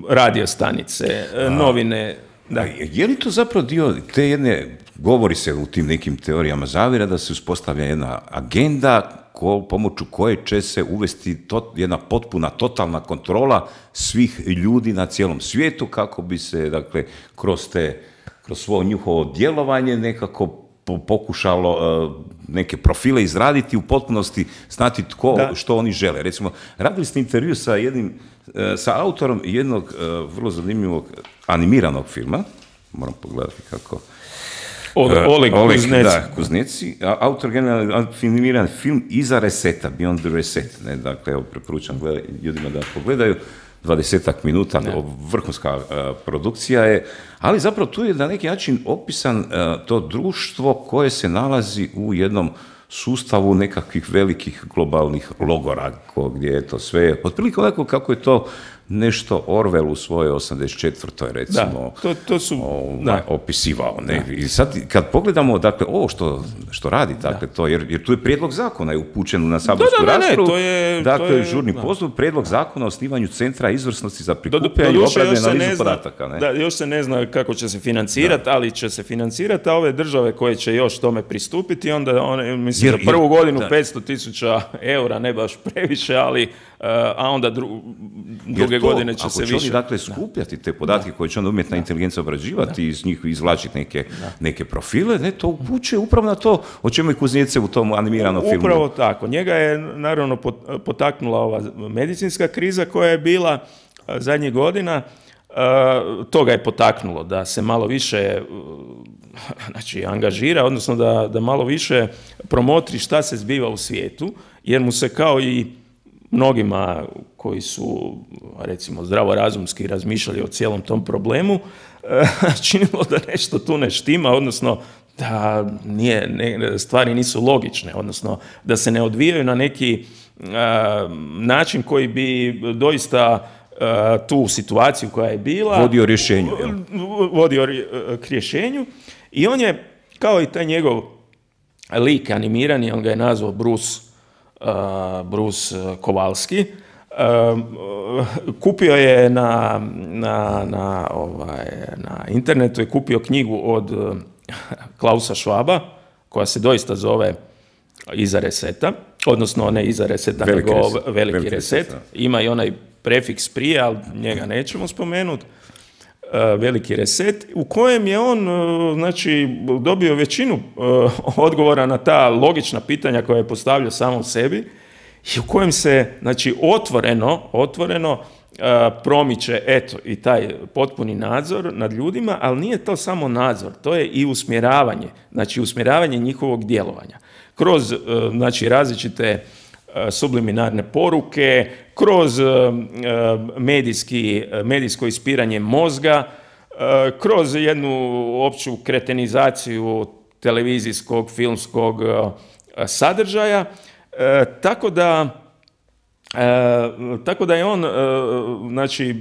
radiostanice, novine. Da. Je li to zapravo dio te jedne, govori se u tim nekim teorijama zavjera, da se uspostavlja jedna agenda pomoću koje će se uvesti jedna potpuna, totalna kontrola svih ljudi na cijelom svijetu, kako bi se, dakle, kroz svoje njihovo djelovanje nekako pokušalo neke profile izraditi, u potpunosti znati što oni žele. Recimo, radili ste intervju sa autorom jednog vrlo zanimljivog animiranog filma, moram pogledati kako... Oleg Kuzneci, autor generalno animiran film Iza reseta, Beyond the Reset. Ne? Dakle, evo, preporučam ljudima da pogledaju, 20 minuta, vrhunska produkcija je, ali zapravo tu je na neki način opisan to društvo koje se nalazi u jednom sustavu nekakvih velikih globalnih logora, gdje je to sve, otprilike onako kako je to nešto Orwell u svojoj 84. recimo to su, opisivao. Ne? I sad kad pogledamo, dakle, ovo što radi, dakle, to, jer tu je prijedlog zakona je upućen na saborsku raspravu, dakle, žurni postup, prijedlog zakona o osnivanju centra izvrsnosti za prikupljanje i obradu i analizu podataka. Ne? Da, još se ne zna kako će se financirati, ali će se financirati, a ove države koje će još tome pristupiti, onda one, mislim, za prvu godinu 500.000 eura, ne baš previše, ali a onda druge godine će se više... Ako će oni, dakle, skupljati te podatke koje će onda umjetna inteligencija obrađivati i iz njih izvlačiti neke profile, ne, to upućuje upravo na to o čemu je Kuznecev u tom animiranom filmu. Upravo tako. Njega je, naravno, potaknula ova medicinska kriza koja je bila zadnjih godina. To ga je potaknulo da se malo više, znači, angažira, odnosno da malo više promotri šta se zbiva u svijetu, jer mu se, kao i mnogima koji su, recimo, zdravorazumski razmišljali o cijelom tom problemu, činilo da nešto tu ne štima, odnosno da stvari nisu logične, odnosno da se ne odvijaju na neki način koji bi doista tu situaciju koja je bila vodio k rješenju. I on je, kao i taj njegov lik animirani, on ga je nazvao Bruce Kowalski, kupio je na internetu je kupio knjigu od Klausa Schwaba, koja se doista zove Iza reseta, odnosno ne Iza reseta, nego Veliki reset. Ima i onaj prefiks prije, ali njega nećemo spomenuti. Veliki reset, u kojem je on, znači, dobio većinu odgovora na ta logična pitanja koja je postavljao samom sebi i u kojem se, znači, otvoreno promiče, eto, i taj potpuni nadzor nad ljudima, ali nije to samo nadzor, to je i usmjeravanje, znači usmjeravanje njihovog djelovanja kroz, znači, različite subliminarne poruke, kroz medijsko ispiranje mozga, kroz jednu opću kretenizaciju televizijskog, filmskog sadržaja, tako da je on, znači,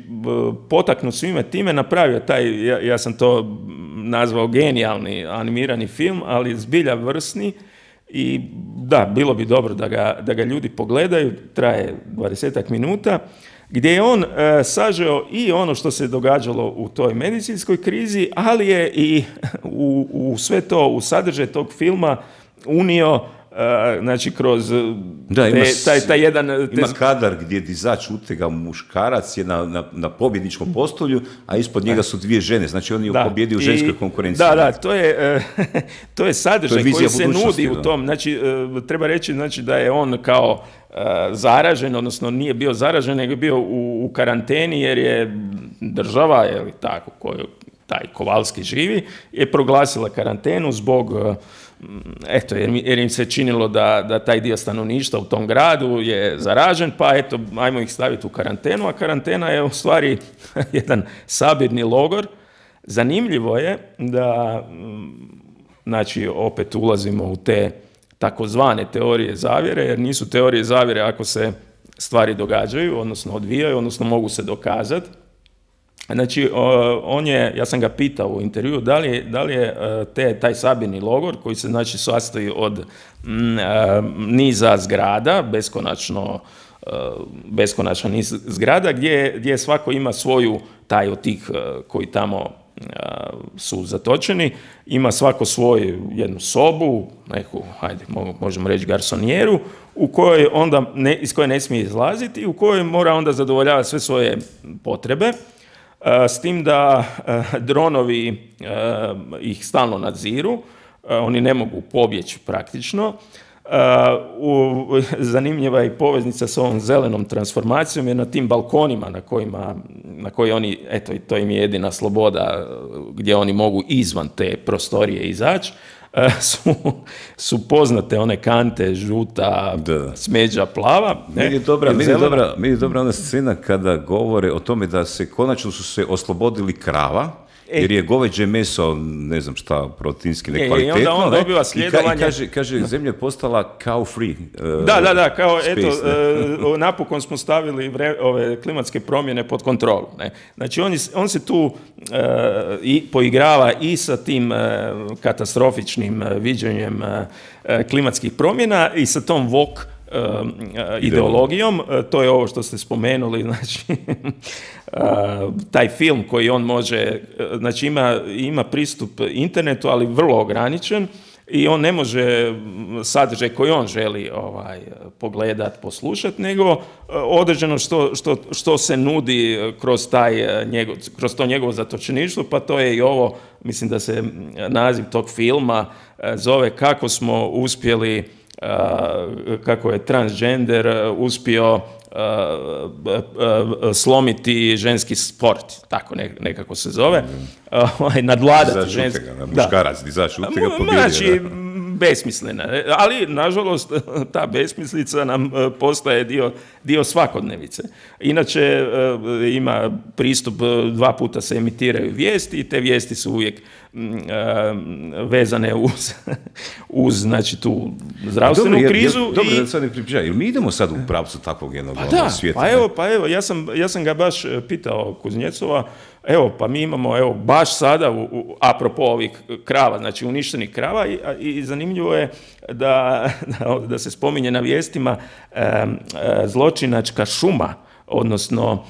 potaknut svime time napravio taj, ja sam to nazvao genijalni animirani film, ali zbilja vrsni. I da, bilo bi dobro da ga ljudi pogledaju, traje 20 minuta, gdje je on sažeo i ono što se događalo u toj medicinskoj krizi, ali je i u sve to, u sadržaj tog filma unio, znači kroz taj jedan... Ima kadar gdje dizač utega muškarac je na pobjedničkom postolju, a ispod njega su dvije žene, znači on je pobjedio u ženskoj konkurenciji. Da, to je sadržaj koji se nudi u tom, znači treba reći, znači, da je on kao zaražen, odnosno nije bio zaražen, nego je bio u karanteni, jer je država, ili tako, koju taj Kovalski živi, je proglasila karantenu zbog... Eto, jer im se činilo da taj dio stanovništva u tom gradu je zaražen, pa eto, ajmo ih staviti u karantenu, a karantena je u stvari jedan sabirni logor. Zanimljivo je da, znači, opet ulazimo u te takozvane teorije zavjere, jer nisu teorije zavjere ako se stvari događaju, odnosno odvijaju, odnosno mogu se dokazati. Znači, ja sam ga pitao u intervjuu da li je taj sabirni logor, koji se, znači, sastoji od niza zgrada, beskonačan niz zgrada, gdje svako ima svoju, taj od tih koji tamo su zatočeni, ima svako svoju jednu sobu, neku, hajde, možemo reći garsonijeru, u kojoj onda iz koje ne smije izlaziti i u kojoj mora onda zadovoljavati sve svoje potrebe. S tim da dronovi ih stalno nadziru, oni ne mogu pobjeći praktično. Zanimljiva je i poveznica s ovom zelenom transformacijom, jer na tim balkonima na koji oni, eto, to im je jedina sloboda gdje oni mogu izvan te prostorije izaći, su poznate one kante žuta, smeđa, plava. Meni je dobra ona scena kada govore o tome da konačno su se oslobodili krava, jer je goveđe meso, ne znam šta, proteinski nekvalitetno. I onda on dobiva sljedovanje. I kaže, zemlja je postala cow free. Da, kao eto, napokon smo stavili ove klimatske promjene pod kontrolu. Ne? Znači, on se tu poigrava i sa tim katastrofičnim viđenjem klimatskih promjena i sa tom woke ideologijom. To je ovo što ste spomenuli, znači taj film koji on može, znači ima pristup internetu, ali vrlo ograničen, i on ne može sadržaj koji on želi pogledat, poslušat, nego određeno što se nudi kroz to njegovo zatočeništvo, pa to je i ovo, mislim da se naziv tog filma zove Kako smo uspjeli, kako je transgender uspio slomiti ženski sport, tako nekako se zove, nadvladati ženski... Muškarac, dizač utega pobjedio. Znači, besmislena, ali nažalost ta besmislica nam postaje dio svakodnevice. Inače, ima pristup, 2 puta se emitiraju vijesti i te vijesti su uvijek vezane uz znači, tu zdravstvenu krizu. Dobro, da sad ne pripričaj, jer mi idemo sad u pravcu takvog jednog svijeta. Pa evo, ja sam ga baš pitao Kuznjecova, pa mi imamo, baš sada, apropo ovih krava, znači uništenih krava, i zanimljivo je da se spominje na vijestima zločinačka šuma, odnosno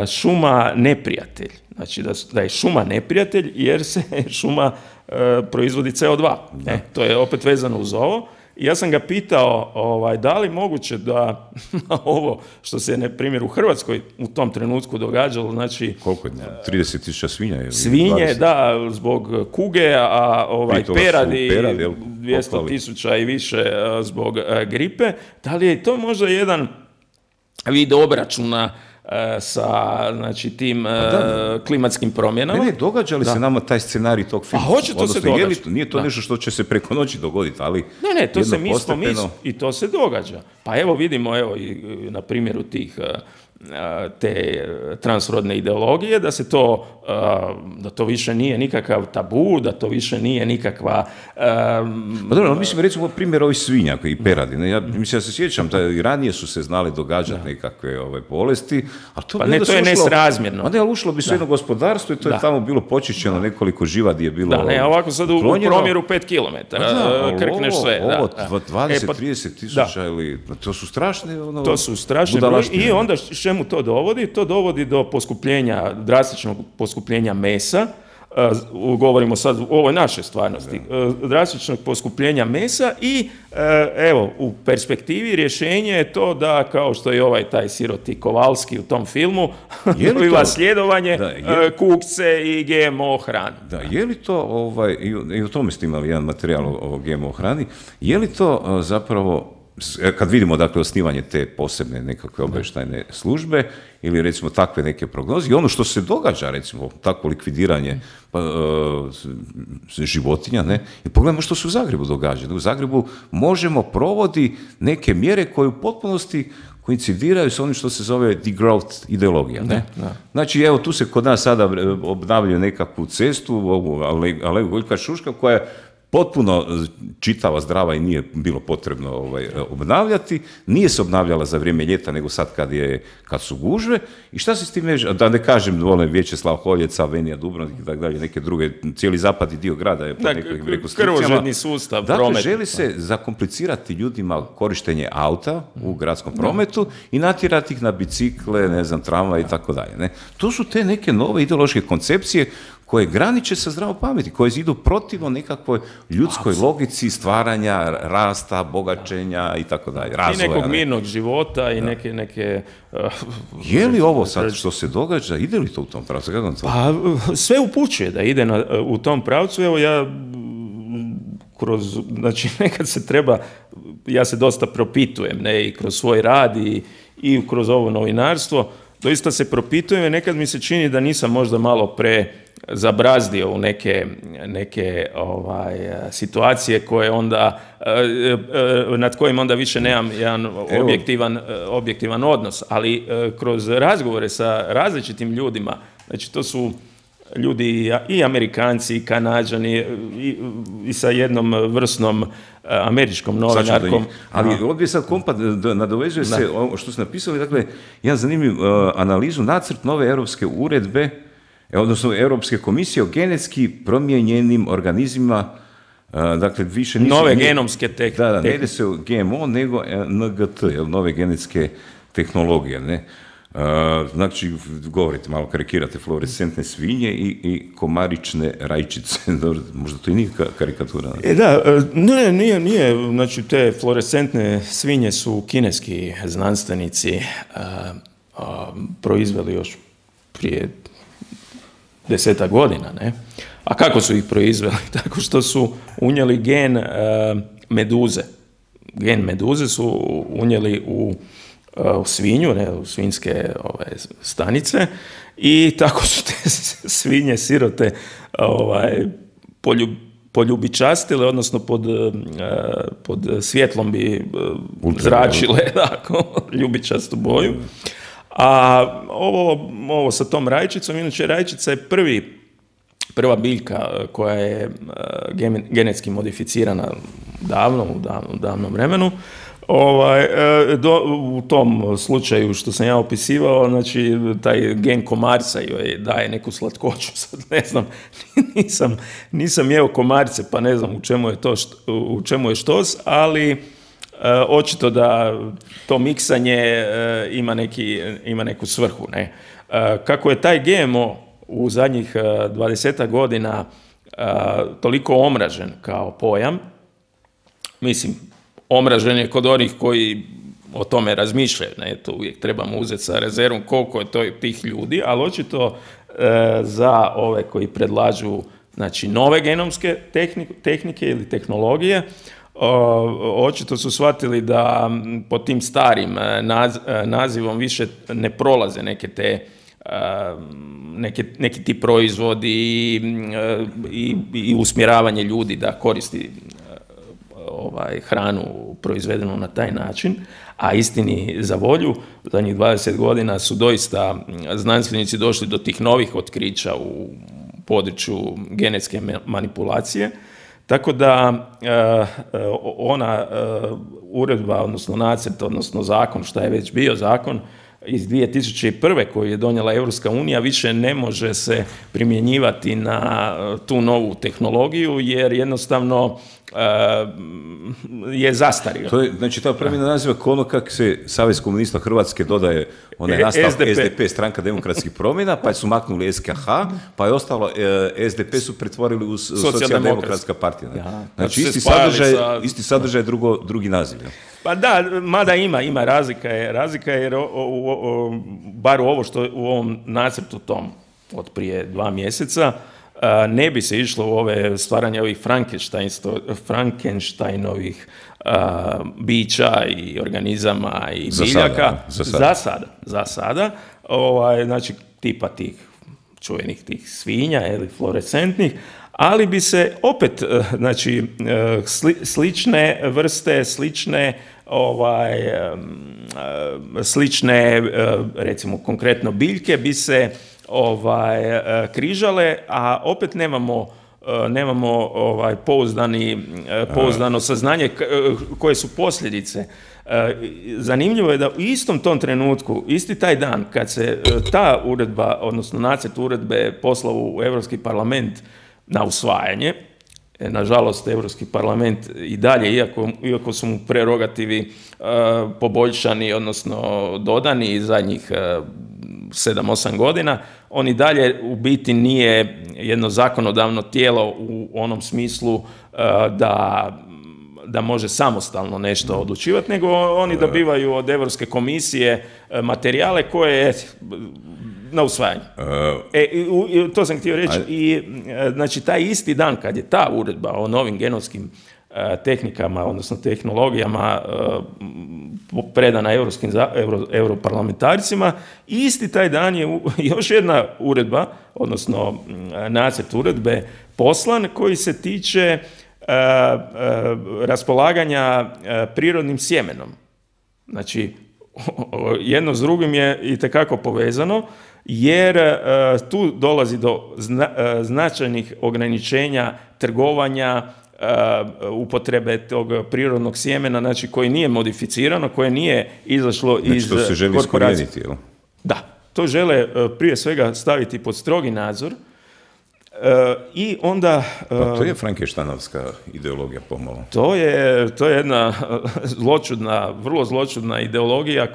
šuma neprijatelj. Znači da je šuma neprijatelj jer se šuma proizvodi CO2. To je opet vezano uz ovo. I ja sam ga pitao da li moguće da ovo što se, na primjer, u Hrvatskoj u tom trenutku događalo, znači... Koliko je? 30.000 svinja? Ili svinje, 20? Da, zbog kuge, a peradi 200.000 i više zbog gripe. Da li je to možda jedan vid obračuna sa, znači, tim klimatskim promjenama? Ne, događa li se nama taj scenarij tog filma? A hoće to se događa. Nije to nešto što će se preko noći dogoditi, ali... Ne, to se mislimo i to se događa. Pa evo vidimo, i na primjeru tih te transrodne ideologije, da to više nije nikakav tabu, da to više nije nikakva... Pa dobro, mislim, recimo primjer ovih svinja i peradi. Ne? Ja se sjećam, i ranije su se znali događati nekakve bolesti, ali to, to je nesrazmjerno. Ali ušlo bi se jedno gospodarstvo i to je tamo bilo počišćeno, nekoliko živadi je bilo... ovako sad u promjeru 5 km, krkneš sve. Ovo 20-30 tisuća ili... To su strašne... To su strašne broje i onda čemu to dovodi? To dovodi do poskupljenja, drastičnog poskupljenja mesa, govorimo sad u ovoj našoj stvarnosti, drastičnog poskupljenja mesa i evo, u perspektivi rješenje je to da, kao što je taj siroti Kovalski u tom filmu, dobiva sljedovanje, kukce i GMO hrane. Da, je li to, i o tome ste imali jedan materijal o GMO hrani, je li to zapravo, kad vidimo dakle osnivanje te posebne nekakve obavještajne službe ili recimo takve neke prognoze i ono što se događa, recimo takvo likvidiranje životinja, ne? I pogledajmo što se u Zagrebu događa. U Zagrebu možemo provodi neke mjere koje u potpunosti koincidiraju s onim što se zove degrowth ideologija. Ne? Da. Znači, evo, tu se kod nas sada obnavljaju nekakvu cestu, ovu Aleju Voljka Šuška, koja je potpuno čitava, zdrava i nije bilo potrebno obnavljati. Nije se obnavljala za vrijeme ljeta, nego sad kad su gužve. I šta se s tim veže? Da ne kažem, Vječeslav Holjeca, Venija Dubrovnik i tako dalje, neke druge, cijeli zapadni dio grada je pod nekakvim rekonstrukcijama. Krvožedni sustav, dakle, promet. Želi se zakomplicirati ljudima korištenje auta u gradskom prometu i natjerati ih na bicikle, ne znam, tramvaj i tako dalje. Ne? To su te neke nove ideološke koncepcije koje graniče sa zdravom pameti, koje idu protivno nekakvoj ljudskoj logici stvaranja, rasta, bogaćenja i tako dalje. I nekog mirnog života i neke je li ovo sad što se događa, ide li to u tom pravcu? Pa, sve upućuje da ide u tom pravcu. Evo ja znači nekad se treba, ja se dosta propitujem, ne, i kroz svoj rad i kroz ovo novinarstvo, doista se propitujem i nekad mi se čini da nisam možda malo zabrazdio u neke situacije koje onda, nad kojim onda više nemam jedan objektivan odnos, ali kroz razgovore sa različitim ljudima, znači to su ljudi i Amerikanci i Kanađani i sa jednom vrsnom američkom novinarkom. Ali ovdje sad kompa nadovezuje se ovo što ste napisali, dakle, jedan zanimljiv analizu, nacrt nove europske uredbe, odnosno Europske komisije o genetski promijenjenim organizmima, dakle, više nisu... Nove genomske tehnike. Da, ne ide se o GMO, nego NGT, nove genetske tehnologije, ne? Znači, govorite, malo karikirate, fluorescentne svinje i komarične rajčice. Možda to i nije karikatura. Nije. Znači, te fluorescentne svinje su kineski znanstvenici proizveli još prije 10 godina, ne? A kako su ih proizveli? Tako što su unijeli gen meduze. Gen meduze su unijeli u svinju, ne, u svinjske stanice, i tako su te svinje sirote poljubičastile, odnosno pod svjetlom bi zračile ljubičastu boju. A ovo sa tom rajčicom, inače rajčica je prva biljka koja je genetski modificirana u davnom vremenu. U tom slučaju što sam ja opisivao, znači taj gen komarca joj daje neku slatkoću, sad ne znam, nisam jeo komarce pa ne znam u čemu je štos, ali očito da to miksanje ima neku svrhu. Ne? Kako je taj GMO u zadnjih 20 godina toliko omražen kao pojam, mislim, omražen je kod onih koji o tome razmišljaju, ne, to uvijek trebamo uzeti sa rezervom koliko je to tih ljudi, ali očito za ove koji predlažu, znači, nove genomske tehnike ili tehnologije, očito su shvatili da pod tim starim nazivom više ne prolaze neki ti proizvodi i usmjeravanje ljudi da koristi hranu proizvedenu na taj način, a istini za volju, zadnjih 20 godina su doista znanstvenici došli do tih novih otkrića u području genetske manipulacije, tako da ona uredba, odnosno nacrt, odnosno zakon, šta je već bio zakon, iz 2001. koju je donijela Europska unija, više ne može se primjenjivati na tu novu tehnologiju, jer jednostavno je zastario. To je, znači, ta promjena naziva kao ono kako se Savez komunista Hrvatske dodaje onaj nastav SDP, Stranka demokratskih promjena, pa su maknuli SKH, pa je ostalo SDP su pretvorili u Socijaldemokratska partija. Ja, znači, isti sadržaj, drugi naziv. Ja. Pa da, mada ima razlika jer bar ovo što u ovom nacrtu tom od prije 2 mjeseca ne bi se išlo u ove stvaranje ovih Frankensteinovih bića i organizama i biljaka. Za sada. Znači, tipa tih čuvenih tih svinja ili fluorescentnih, ali bi se opet, znači, slične vrste, slične, recimo konkretno biljke bi se križale, a opet nemamo pouzdano saznanje koje su posljedice. Zanimljivo je da u istom tom trenutku, isti taj dan kad se ta uredba, odnosno nacrt uredbe poslao u Europski parlament na usvajanje, nažalost Europski parlament i dalje, iako su mu prerogativi poboljšani, odnosno dodani zadnjih 7-8 godina, on i dalje u biti nije jedno zakonodavno tijelo u onom smislu da može samostalno nešto odlučivati, nego oni dobivaju od Europske komisije materijale koje na usvajanje. To sam htio reći. I znači, taj isti dan kad je ta uredba o novim genomskim tehnikama, odnosno tehnologijama predana europarlamentarcima, isti taj dan je još jedna uredba, odnosno nacrt uredbe poslan koji se tiče raspolaganja prirodnim sjemenom. Znači, jedno s drugim je itekako povezano, jer tu dolazi do značajnih ograničenja trgovanja, upotrebe tog prirodnog sjemena, znači koji nije modificirano, koje nije izašlo iz to se želi iskorijeniti, jel? Da, to žele prije svega staviti pod strogi nadzor. I onda... Pa to je Frankensteinovska ideologija pomalo. To je jedna vrlo zločudna ideologija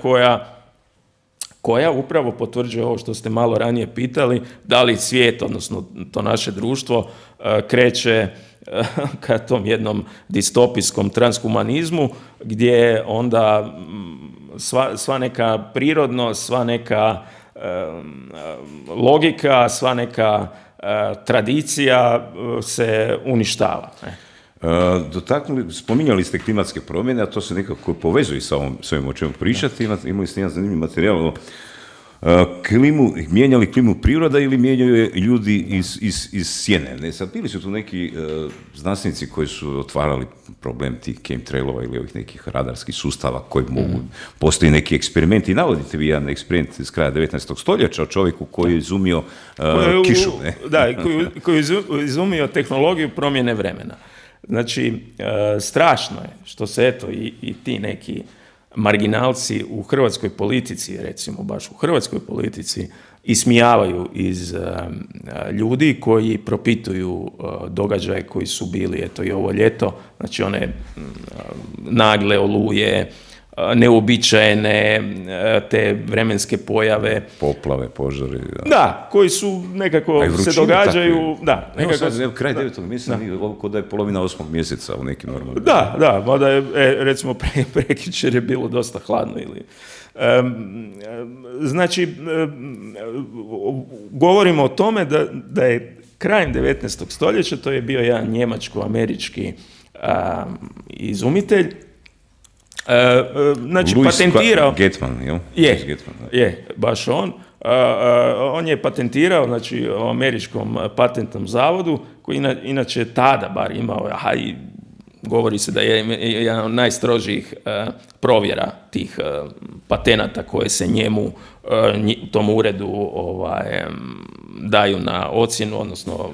koja upravo potvrđuje ovo što ste malo ranije pitali, da li svijet, odnosno to naše društvo, kreće ka tom jednom distopijskom transhumanizmu, gdje onda sva neka prirodnost, sva neka logika, sva neka tradicija se uništava. Spominjali ste klimatske promjene, a to se nekako povezuje sa ovim o čemu pričati. Imali ste jedan zanimljiv materijal o mijenjali klimu priroda ili mijenjaju ljudi iz sjene. Ne, sad bili su tu neki znanstvenici koji su otvarali problem tih chemtrailova ili ovih nekih radarskih sustava koji mogu, postoji neki eksperimenti. Navodite vi jedan eksperiment iz kraja 19. stoljeća o čovjeku koji je izumio kišu. Ne? Da, koji je izumio tehnologiju promjene vremena. Znači, strašno je što se eto i ti neki marginalci u hrvatskoj politici, recimo baš u hrvatskoj politici, ismijavaju iz ljudi koji propituju događaje koji su bili eto i ovo ljeto, znači one nagle oluje, neuobičajene te vremenske pojave. Poplave, požari. Da, koji su nekako se događaju. Da, nekako, evo kraj 9. mjeseca, kod da je polovina 8. mjeseca u nekim normalnim. Da, mada je, recimo, prekjučer je bilo dosta hladno ili... Znači, govorimo o tome da je krajem 19. stoljeća, to je bio jedan njemačko-američki izumitelj, znači patentirao... Getman, jel? Je, baš on. On je patentirao, znači, u američkom patentnom zavodu, koji inače tada bar imao govori se da je jedan od najstrožijih provjera tih patenata koje se njemu u tom uredu daju na ocjenu, odnosno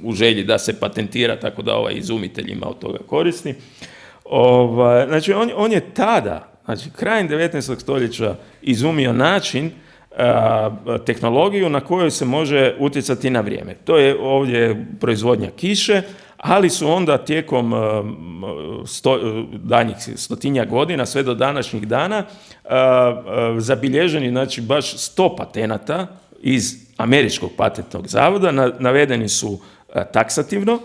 u želji da se patentira, tako da izumitelj ima od toga koristi. Znači, on je tada, znači krajem 19. stoljeća izumio način, tehnologiju na kojoj se može utjecati na vrijeme. To je ovdje proizvodnja kiše, ali su onda tijekom danjih 100 godina, sve do današnjih dana, zabilježeni, znači, baš 100 patenata iz Američkog patentnog zavoda, navedeni su taksativno,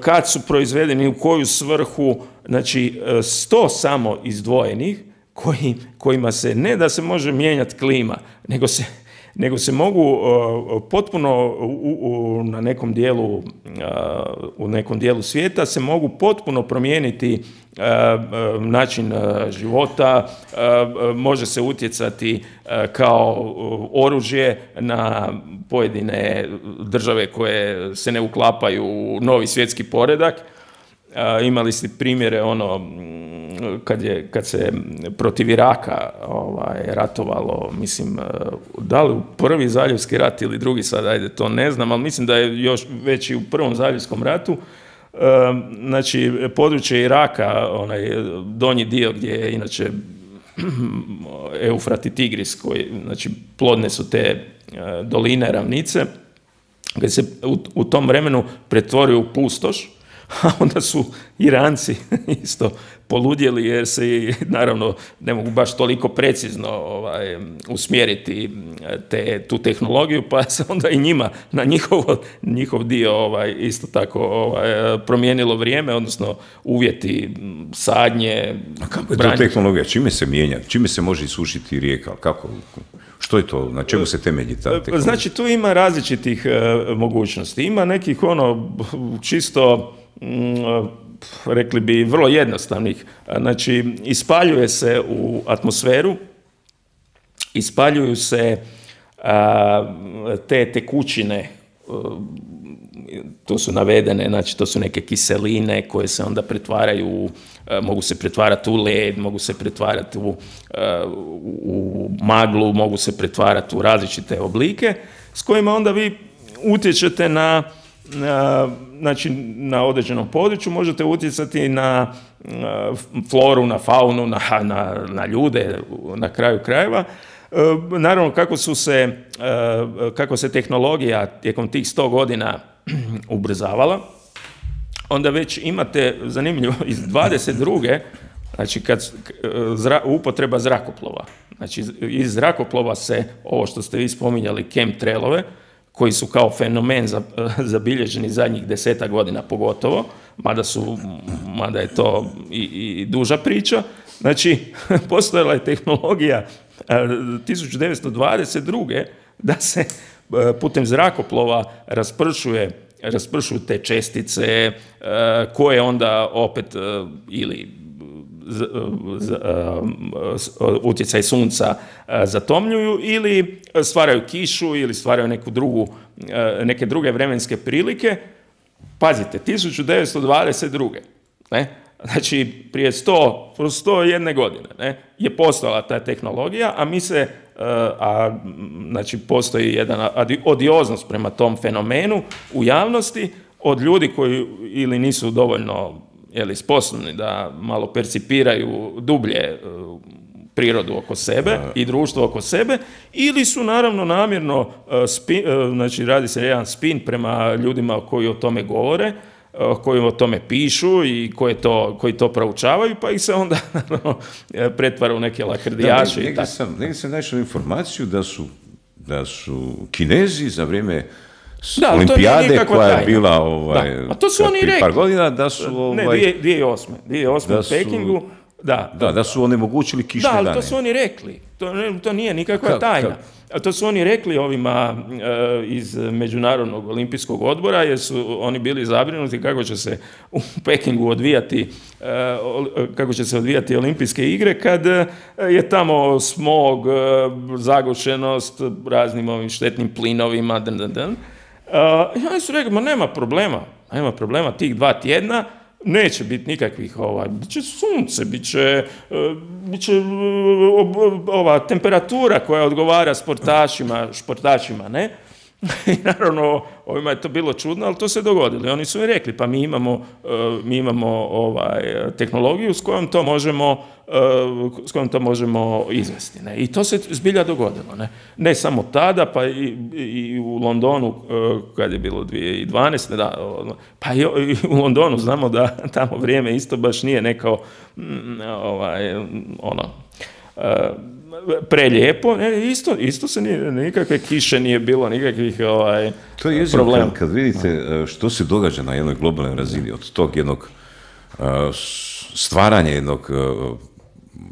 kad su proizvedeni, u koju svrhu, znači 100 samo izdvojenih, kojima se, ne da se može mijenjati klima, nego se mogu potpuno na nekom dijelu, u nekom dijelu svijeta se mogu potpuno promijeniti način života, može se utjecati kao oružje na pojedine države koje se ne uklapaju u novi svjetski poredak. Imali ste primjere kad se protiv Iraka ratovalo, mislim, da li u prvi zaljevski rat ili drugi, sad ajde to ne znam, ali mislim da je još već i u prvom zaljevskom ratu, znači područje Iraka, onaj donji dio gdje je inače Eufrat i Tigris, znači plodne su te doline, ravnice, kad se u tom vremenu pretvorio u pustoš, a onda su Iranci isto poludjeli, jer se, naravno, ne mogu baš toliko precizno usmjeriti tu tehnologiju, pa se onda i njima na njihov dio isto tako promijenilo vrijeme, odnosno uvjeti sadnje. A kako je to tehnologija? Čime se mijenja? Čime se može isušiti rijeka? Kako? Što je to? Na čemu se temelji ta tehnologija? Znači, tu ima različitih mogućnosti. Ima nekih čisto, rekli bi, vrlo jednostavnih. Znači, ispaljuje se u atmosferu, ispaljuju se te tekućine, to su navedene, znači to su neke kiseline koje se onda pretvaraju, mogu se pretvarati u led, mogu se pretvarati u maglu, mogu se pretvarati u različite oblike, s kojima onda vi utječete znači na određenom području, možete utjecati na floru, na faunu, na ljude, na kraju krajeva. Naravno, kako se tehnologija tijekom tih 100 godina ubrzavala, onda već imate, zanimljivo, iz 22. znači upotreba zrakoplova. Znači, iz zrakoplova se, ovo što ste vi spominjali, chemtrailove, koji su kao fenomen zabilježeni zadnjih 10 godina pogotovo, mada je to i duža priča. Znači, postojala je tehnologija 1922. da se putem zrakoplova raspršuju te čestice koje onda opet ili utjecaj sunca zatomljuju ili stvaraju kišu ili stvaraju neke druge vremenske prilike. Pazite, 1922. Znači prije 101 godine je postojala ta tehnologija, a znači postoji jedna odioznost prema tom fenomenu u javnosti od ljudi koji ili nisu dovoljno sposobni da malo percipiraju dublje prirodu oko sebe i društvo oko sebe, ili su naravno namjerno, znači radi se jedan spin prema ljudima koji o tome govore, koji o tome pišu i koji to proučavaju, pa ih se onda pretvara u neke lakrdijaše. Negdje sam našao informaciju da su Kinezi za vrijeme Olimpijade koja je bila prije par godina, da su 2008. u Pekingu, da su onemogućili kišne dane. Da, ali to su oni rekli. To nije nikakva tajna. To su oni rekli ovima iz Međunarodnog olimpijskog odbora, jer su oni bili zabrinuti kako će se u Pekingu odvijati olimpijske igre kad je tamo smog, zagušenost raznim ovim štetnim plinovima, I oni su rekli, nema problema tih 2 tjedna, neće biti nikakvih, bit će sunce, bit će ova temperatura koja odgovara športašima, ne? I naravno, ovima je to bilo čudno, ali to se dogodilo. I oni su mi rekli, pa mi imamo tehnologiju s kojom to možemo izvesti. Ne? I to se zbilja dogodilo. Ne samo tada, pa i u Londonu, kad je bilo 2012. Pa i u Londonu znamo da tamo vrijeme isto baš nije neko prelijepo, isto se nikakve kiše nije bilo, nikakvih to je problema. Kad vidite što se događa na jednoj globalnoj razini, od tog jednog stvaranja jednog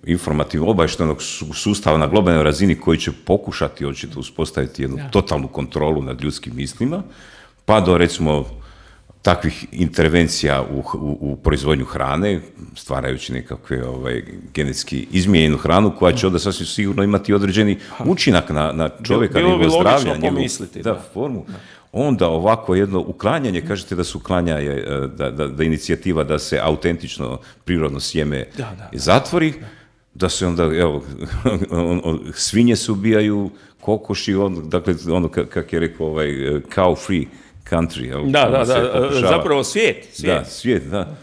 informativno obavještajnog sustava na globalnoj razini koji će pokušati očito uspostaviti jednu totalnu kontrolu nad ljudskim mislima, pa do recimo takvih intervencija u proizvodnju hrane, stvarajući nekakve genetski izmijenjenu hranu koja će onda sasvim sigurno imati određeni učinak na čovjeka, njegovo zdravlje, formu. Onda ovako jedno uklanjanje, kažete da se uklanja, da inicijativa da se autentično prirodno sjeme zatvori, da se onda, evo, svinje se ubijaju, kokoši, dakle, ono kak je rekao cow free country. Da, zapravo svijet. Da, svijet, da.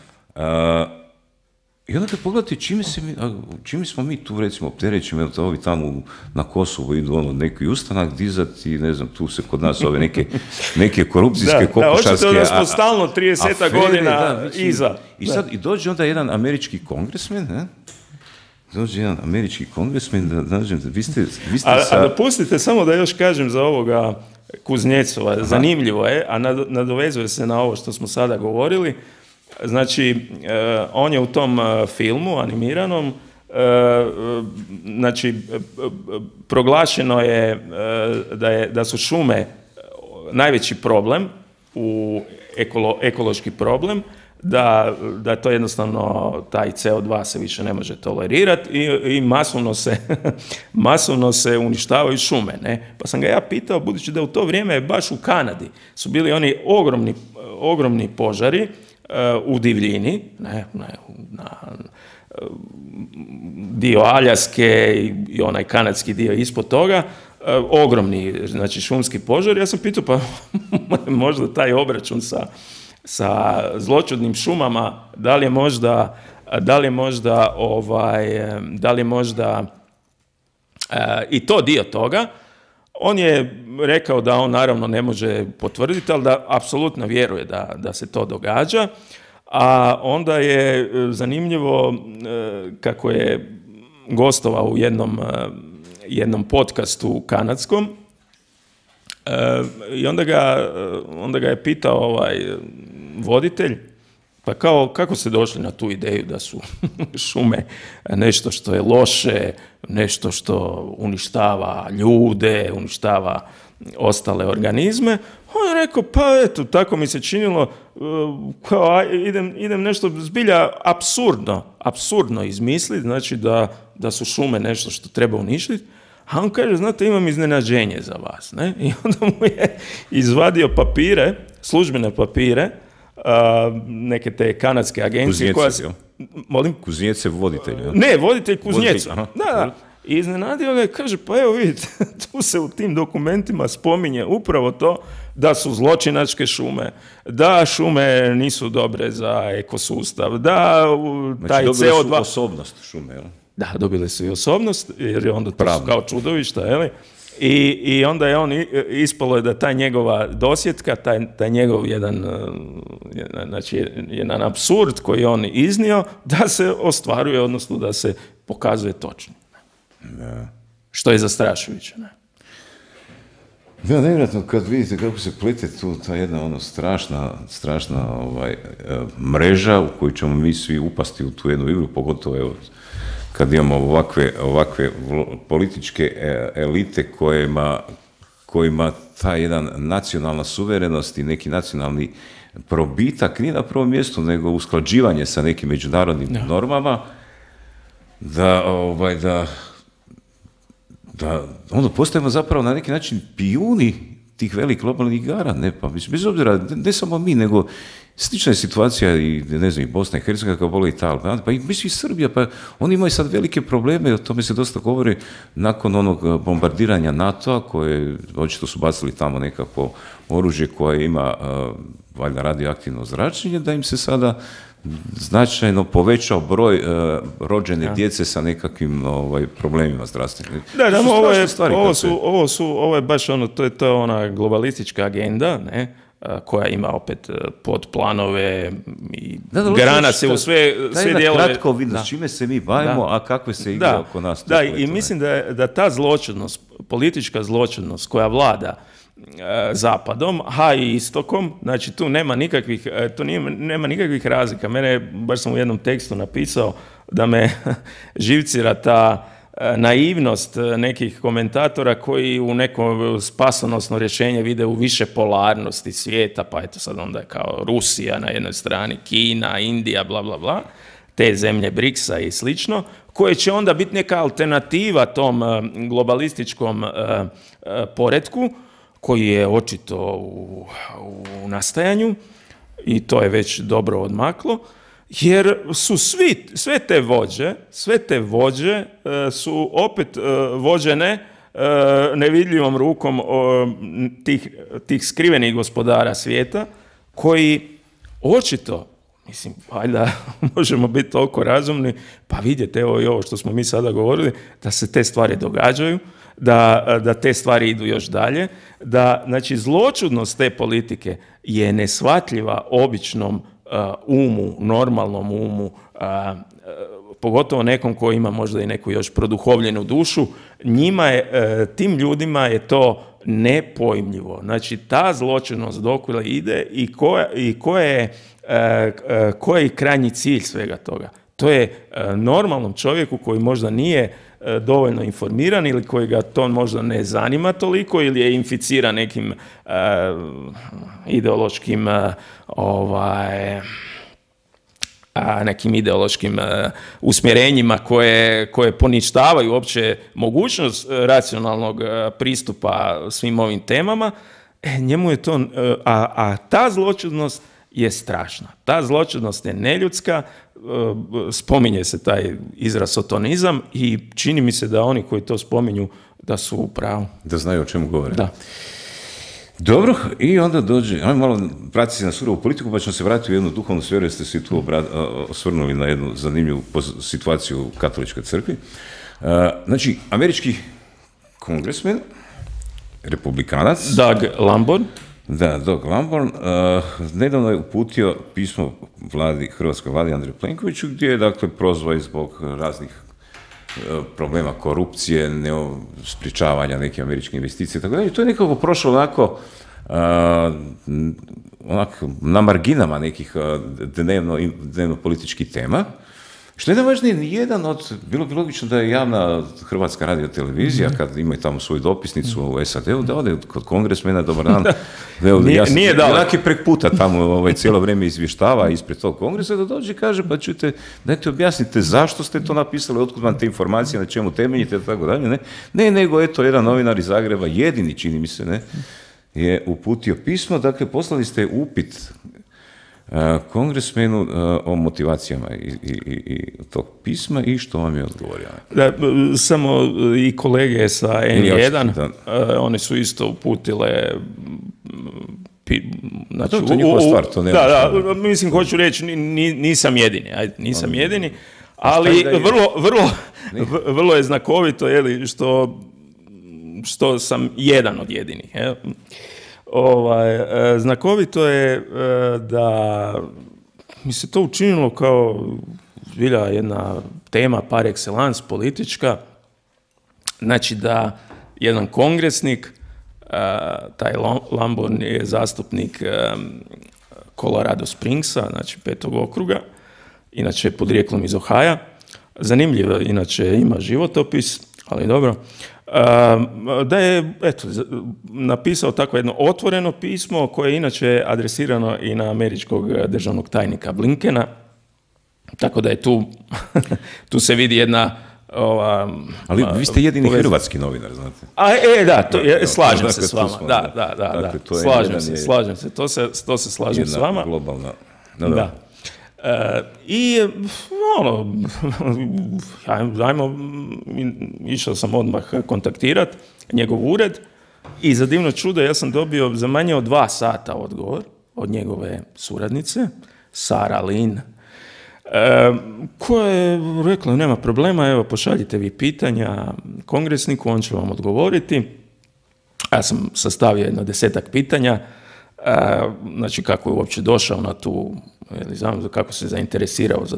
I onda kad pogledate čime smo mi tu, recimo, opterećeni, ovi tamo na Kosovu idu neki ustanak dizati, ne znam, tu se kod nas ove neke korupcijske, kokošarske... Da, smo stalno 30 godina iza. I sad i dođe onda jedan američki kongresmen, vi ste sa... A dopustite samo da još kažem za ovoga Kuznecova, zanimljivo je, a nadovezuje se na ovo što smo sada govorili. Znači, on je u tom filmu animiranom, znači, proglašeno je da su šume najveći problem, ekološki problem, da to jednostavno, taj CO2 se više ne može tolerirati i masovno se uništavaju šume. Ne? Pa sam ga ja pitao, budući da u to vrijeme baš u Kanadi su bili oni ogromni požari u divljini, na dio Aljaske i onaj kanadski dio ispod toga, ogromni, znači, šumski požari. Ja sam pitao, pa možda taj obračun sa zloćudnim šumama, da li je možda i to dio toga. On je rekao da on naravno ne može potvrditi, ali da apsolutno vjeruje da se to događa. A onda je zanimljivo kako je gostovao u jednom podcastu kanadskom, i onda ga je pitao voditelj, pa kako ste došli na tu ideju da su šume nešto što je loše, nešto što uništava ljude, uništava ostale organizme. On je rekao, pa eto, tako mi se činilo, kao idem nešto zbilja apsurdno izmisliti, znači da su šume nešto što treba uništiti. A on kaže, znate, imam iznenađenje za vas. Ne? I onda mu je izvadio službene papire, neke te kanadske agencije. Kuznjec je voditelj. Ja? Ne, voditelj Kuznjecu. Da. I iznenadio ga i kaže, pa evo vidite, tu se u tim dokumentima spominje upravo to da su zločinačke šume, da šume nisu dobre za ekosustav, da taj CO2... Znači, dobili su osobnost šume, jel? Da, dobili su i osobnost, jer je onda to kao čudovišta, jel? I onda je on ispalo je da ta njegova dosjetka, taj njegov jedan apsurd koji je on iznio, da se ostvaruje, odnosno da se pokazuje točno. Da. Što je zastrašujuće, ne? Da, nevjerojatno kad vidite kako se plete tu ta jedna strašna mreža u koju ćemo mi svi upasti u tu jednu igru, pogotovo kad imamo ovakve političke elite kojima ta jedan nacionalna suverenost i neki nacionalni probitak nije na prvom mjestu, nego usklađivanje sa nekim međunarodnim normama, da onda postajemo zapravo na neki način pijuni tih velikih globalnih igara, ne, pa bez obzira, ne samo mi, nego Slična je situacija i, ne znam, i Bosna i Hercegovina, kao boli Italija, pa i mislim i Srbija, pa oni imaju sad velike probleme, o tome se dosta govori nakon onog bombardiranja NATO-a, koje očito su bacili tamo nekako oružje koje ima valjda radioaktivno zračenje, da im se sada značajno povećao broj rođene djece sa nekakvim problemima zdravstvenim. Da, ovo je baš ono, to je ona globalistička agenda, ne? Koja ima opet podplanove i grana se u sve dijelove. Kratko vidno, s čime se mi bavimo, a kakve se igra oko nas. Da, i mislim da ta zločinnost, politička zločinnost koja vlada zapadom, a i istokom, znači tu nema nikakvih razlika. Mene, baš sam u jednom tekstu napisao da me živcira ta naivnost nekih komentatora koji u neko spasonosno rješenje vide u više polarnosti svijeta, pa eto sad onda je kao Rusija na jednoj strani, Kina, Indija, bla, bla, bla, te zemlje BRICS-a i slično, koje će onda biti neka alternativa tom globalističkom poretku, koji je očito u nastajanju i to je već dobro odmaklo, jer su sve te vođe su opet vođene nevidljivom rukom tih skrivenih gospodara svijeta, koji očito, mislim, valjda možemo biti toliko razumni, pa vidjeti, evo i ovo što smo mi sada govorili, da se te stvari događaju, da te stvari idu još dalje, da, znači, zloćudnost te politike je neshvatljiva običnom umu, normalnom umu, pogotovo nekom koji ima možda i neku još produhovljenu dušu, tim ljudima je to nepojmljivo. Znači, ta zločinnost dokle ide i koji je krajnji cilj svega toga. To je normalnom čovjeku koji možda nije dovoljno informiran ili koji ga to možda ne zanima toliko ili je inficiran nekim ideološkim nekim ideološkim usmjerenjima koje poništavaju uopće mogućnost racionalnog pristupa svim ovim temama, njemu je to, a ta zločudnost je strašna. Ta zločudnost je neljudska, spominje se taj izraz sotonizam i čini mi se da oni koji to spominju da su u pravu. Da znaju o čemu govore. Da. Dobro, i onda dođe, ajmo malo pratiti se na surovu politiku, pa ćemo se vratiti u jednu duhovnu sferu, jer ste se tu osvrnuli na jednu zanimljivu situaciju u katoličkoj crkvi. Znači, američki kongresmen, republikanac. Doug Lamborn. Da, Doug Lamborn nedavno je uputio pismo hrvatskoj vladi Andreju Plenkoviću, gdje je, dakle, prozvao i zbog raznih problema korupcije, sprječavanja nekih američkih investicija i tako dalje. To je nekako prošlo onako na marginama nekih dnevno političkih tema. Što je najvažnije, bilo bi logično da je javna Hrvatska radiotelevizija, kad imaju tamo svoju dopisnicu u SAD-u, da ode kod kongresmena, dobar dan, nije dao. Onak je prek puta tamo cijelo vrijeme izvještava ispred tog kongresa, da dođe i kaže, pa čujte, dajte objasnite zašto ste to napisali, otkud vam te informacije, na čemu temeljite, i tako dalje, ne, nego eto, jedan novinar iz Zagreba, jedini, čini mi se, je uputio pismo, dakle, poslali ste upit kongresmenu o motivacijama i tog pisma i što vam je odgovorio? Da, samo i kolege sa N1, oni su isto uputile znači, to je njihova stvar, to nema. Da, mislim, hoću reći, nisam jedini, ali vrlo je znakovito, što sam jedan od jedinih. Znakovito je da mi se to učinilo kao zbilja jedna tema par excellence politička, znači da jedan kongresnik, taj Lamborn je zastupnik Colorado Springsa, znači 5. okruga, inače podrijetlom iz Ohaja, zanimljivo, inače ima životopis, ali dobro, da je napisao tako jedno otvoreno pismo koje je inače adresirano i na američkog državnog tajnika Blinkena, tako da je tu se vidi jedna Ali vi ste jedini hrvatski novinar, znate. Da, slažem se s vama. Da, slažem se. To se slažem s vama. Globalna. Da. I išao sam odmah kontaktirati njegov ured i za divno čudo ja sam dobio za manje od 2 sata odgovor od njegove suradnice, Sara Lynn, koja je rekla nema problema, evo pošaljite vi pitanja kongresniku, on će vam odgovoriti. Ja sam sastavio jedno 10-ak pitanja, znači kako je uopće došao na tu, znam kako se zainteresirao za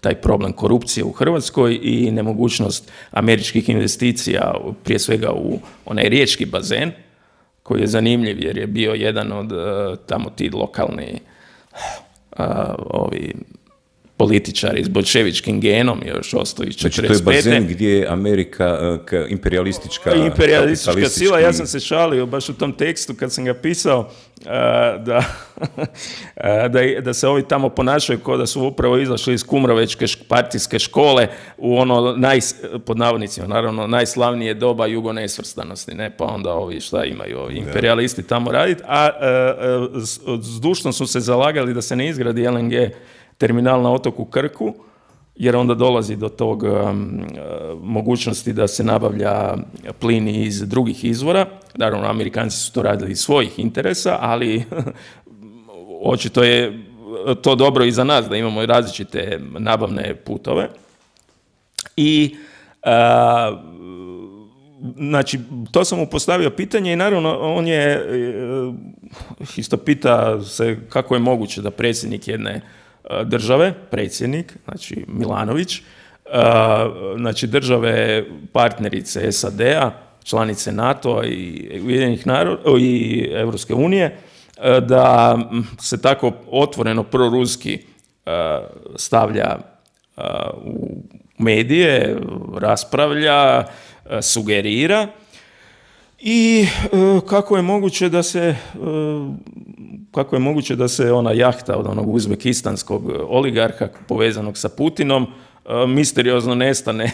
taj problem korupcije u Hrvatskoj i nemogućnost američkih investicija, prije svega u onaj riječki bazen, koji je zanimljiv jer je bio jedan od tamo ti lokalni političari s bolševičkim genom još ostaju iz 45. Znači to je bazen gdje je Amerika imperialistička sila. Ja sam se šalio baš u tom tekstu kad sam ga pisao da se ovi tamo ponašaju kao da su upravo izašli iz Kumrovečke partijske škole u ono pod navodnicima, naravno, najslavnije doba jugonesvrstanosti, ne? Pa onda ovi šta imaju ovi imperialisti tamo raditi, a zdušno su se zalagali da se ne izgradi LNG terminal na otoku Krku, jer onda dolazi do tog mogućnosti da se nabavlja plin iz drugih izvora. Naravno, Amerikanci su to radili iz svojih interesa, ali očito je to dobro i za nas, da imamo različite nabavne putove. I znači, to sam mu postavio pitanje i naravno on je isto pita se kako je moguće da predsjednik jedne države, predsjednik, znači Milanović, znači države partnerice SAD-a, članice NATO-a i Ujedinjenih naroda i Europske unije, da se tako otvoreno proruski stavlja u medije, raspravlja, sugerira i kako je moguće da se ona jahta od onog uzbekistanskog oligarha povezanog sa Putinom misteriozno nestane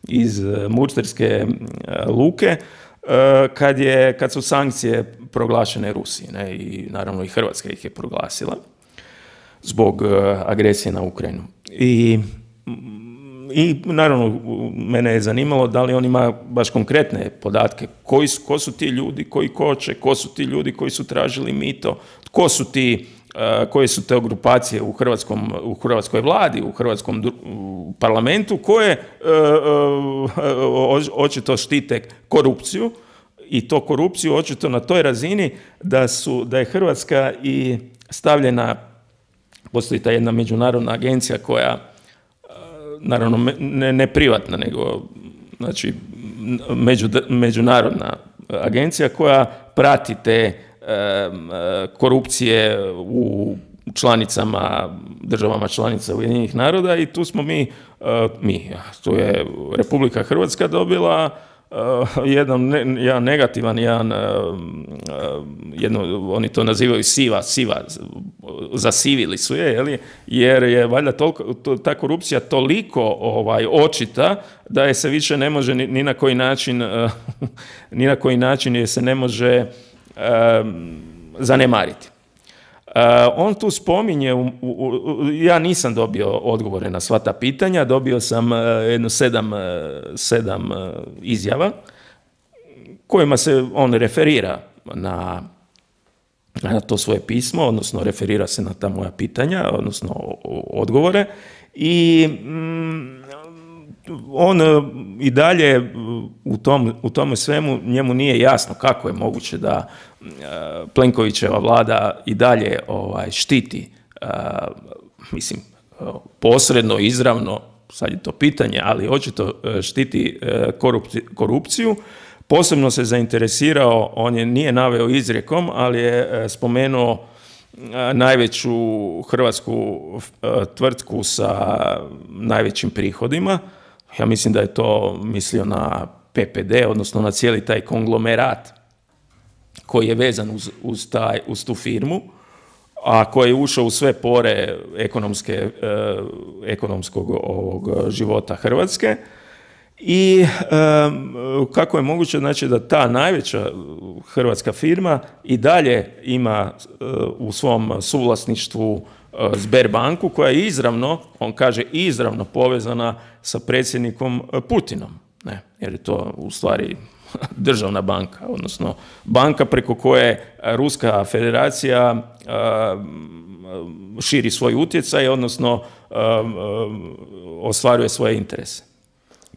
iz Murterske luke kad su sankcije proglašene Rusiji, ne? I naravno i Hrvatska ih je proglasila zbog agresije na Ukrajinu. I naravno, mene je zanimalo da li on ima baš konkretne podatke, ko su ti ljudi koji koče, ko su ti ljudi koji su tražili mito, koje su te grupacije u hrvatskoj vladi, u hrvatskom parlamentu, koje očito štite korupciju, i to korupciju očito na toj razini da je Hrvatska i stavljena, postoji ta jedna međunarodna agencija koja, naravno ne privatna, nego znači međunarodna agencija koja prati te korupcije u državama članica Ujedinjenih naroda, i tu smo tu je Republika Hrvatska dobila jedan negativan, oni to nazivaju siva, zasivili su je, jer je valjda ta korupcija toliko očita da je se više ne može ni na koji način je se ne može zanemariti. On tu spominje, ja nisam dobio odgovore na sva ta pitanja, dobio sam jedno 7 izjava kojima se on referira na to svoje pismo, odnosno referira se na ta moja pitanja, odnosno odgovore, i on i dalje u tome svemu, njemu nije jasno kako je moguće da Plenkovićeva vlada i dalje štiti, posredno, izravno, sad je to pitanje, ali očito štiti korupciju. Posebno se zainteresirao, nije naveo izrijekom, ali je spomenuo najveću hrvatsku tvrtku sa najvećim prihodima. Ja mislim da je to mislio na PPD, odnosno na cijeli taj konglomerat koji je vezan uz tu firmu. a koji je ušao u sve pore ekonomskog ovog života Hrvatske. I kako je moguće, znači, da ta najveća hrvatska firma i dalje ima u svom suvlasništvu Sberbanku, koja je izravno, on kaže izravno povezana sa predsjednikom Putinom, ne? Jer je to u stvari državna banka, odnosno banka preko koje Ruska federacija širi svoj utjecaj, odnosno ostvaruje svoje interese.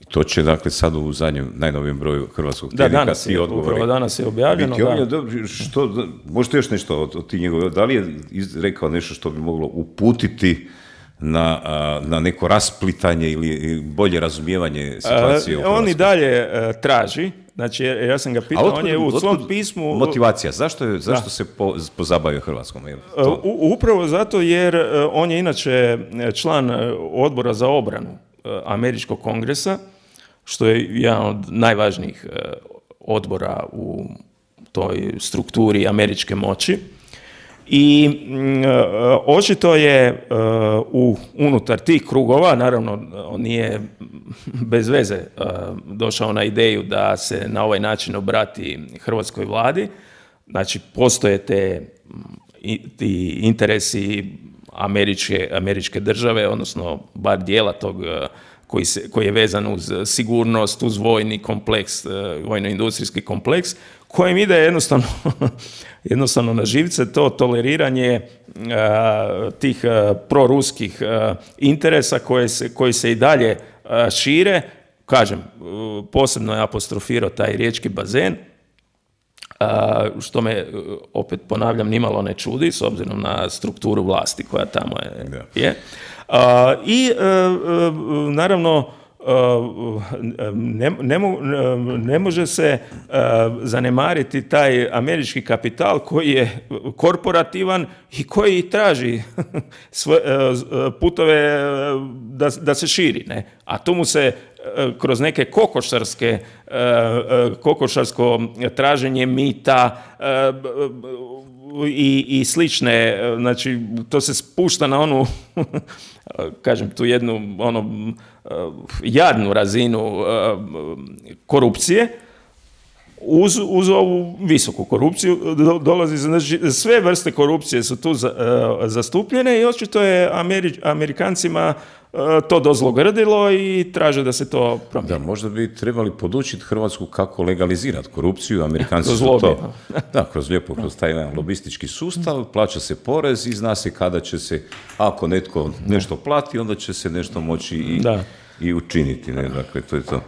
To će, dakle, sad u zadnjem, najnovijem broju Hrvatskog tjednika ti odgovori. Upravo danas je objavljeno. Možete još nešto od ti njegove, da li je rekao nešto što bi moglo uputiti na neko rasplitanje ili bolje razumijevanje situacije u Hrvatskoj? On i dalje traži, znači ja sam ga pitao, on je u svom pismu... Motivacija, zašto se pozabavio Hrvatskom? Upravo zato jer on je inače član odbora za obranu Američkog kongresa, što je jedan od najvažnijih odbora u toj strukturi američke moći. I očito je unutar tih krugova, naravno on nije bez veze došao na ideju da se na ovaj način obrati hrvatskoj vladi, znači postoje ti interesi američke države, odnosno bar dijela tog koji je vezan uz sigurnost, uz vojni kompleks, vojno-industrijski kompleks, kojem ide jednostavno na živce to toleriranje tih proruskih interesa koji se i dalje šire. Kažem, posebno je apostrofirao taj riječki bazen, što me, opet ponavljam, nimalo ne čudi s obzirom na strukturu vlasti koja tamo je. I naravno ne može se zanemariti taj američki kapital koji je korporativan i koji traži putove da se širi, ne? A to mu se kroz neke kokošarsko traženje mita i slične, znači to se spušta na onu, kažem, tu jednu jadnu razinu korupcije. Uz ovu visoku korupciju dolazi, znači, sve vrste korupcije su tu zastupljene i očito je Amerikancima to dozlogrdilo i traže da se to promijeni. Da, možda bi trebali podučiti Hrvatsku kako legalizirati korupciju. Amerikanci su to... Da, kroz taj jedan lobistički sustav, plaća se porez i zna se kada će se, ako netko nešto plati, onda će se nešto moći i učiniti. Ne? Dakle, to je to.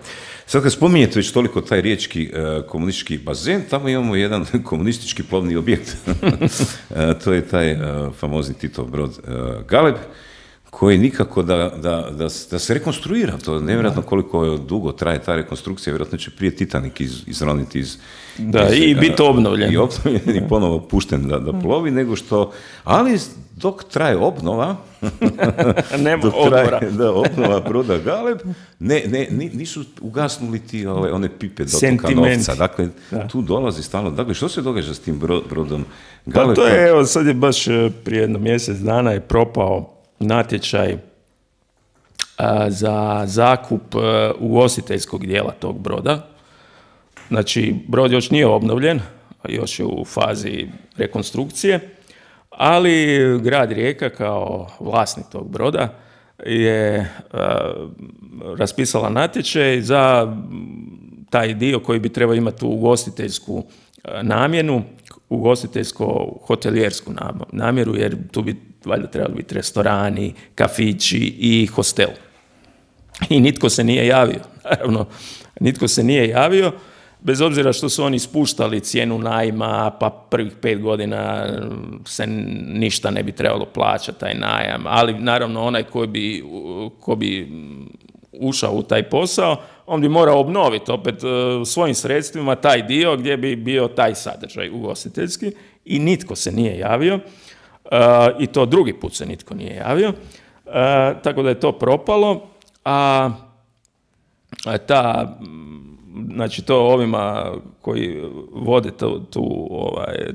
Sad kad spominjete već toliko taj riječki komunistički bazen, tamo imamo jedan komunistički plovni objekt. To je taj famozni Titov brod Galeb, koji nikako da se rekonstruira. To je nevjerojatno koliko dugo traje ta rekonstrukcija, vjerojatno će prije Titanik izroniti i biti obnovljen. I obnovljen i ponovo pušten da plovi, nego što... Ali dok traje obnova, obnova broda Galeb, nisu ugasnuli ti one pipe dotoka novca. Dakle, tu dolazi stalno. Dakle, što se događa s tim brodom Galeb? Pa to je, evo, sad je baš prije jedno mjesec dana je propao natječaj za zakup ugostiteljskog dijela tog broda. Znači, brod još nije obnovljen, još je u fazi rekonstrukcije, ali grad Rijeka kao vlasnik tog broda je raspisala natječaj za taj dio koji bi trebao imati tu ugostiteljsku namjenu, ugostiteljsko-hotelijersku namjeru, jer tu bi valjda trebali biti restorani, kafići i hostel. I nitko se nije javio. Naravno, nitko se nije javio, bez obzira što su oni spuštali cijenu najma, pa prvih 5 godina se ništa ne bi trebalo plaćati, taj najam. Ali naravno onaj ko bi ušao u taj posao, on bi morao obnoviti opet svojim sredstvima taj dio gdje bi bio taj sadržaj ugostiteljski i nitko se nije javio. I to drugi put se nitko nije javio. Tako da je to propalo, a ta znači to ovima koji vode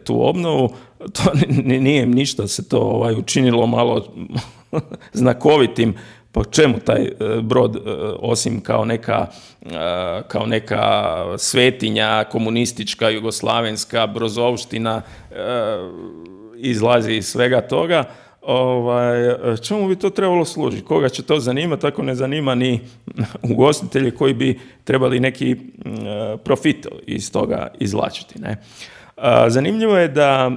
tu obnovu, to nije im ništa se to učinilo malo znakovitim. Po čemu taj brod, osim kao neka svetinja komunistička, jugoslavenska, brozovština, izlazi iz svega toga, čemu bi to trebalo služiti? Koga će to zanimati? Tako ne zanima ni ugostitelji koji bi trebali neki profit iz toga izvlačiti, ne? Zanimljivo je da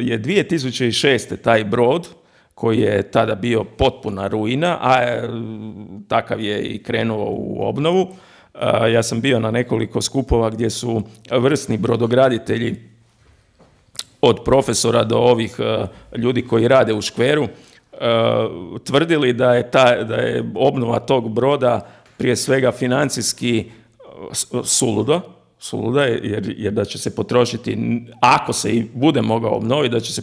je 2006. taj brod, koji je tada bio potpuna ruina, a takav je i krenuo u obnovu. Ja sam bio na nekoliko skupova gdje su vrsni brodograditelji, od profesora do ovih ljudi koji rade u škveru, tvrdili da je obnova tog broda prije svega financijski suluda, jer da će se potrošiti, ako se i bude mogao obnoviti, da će se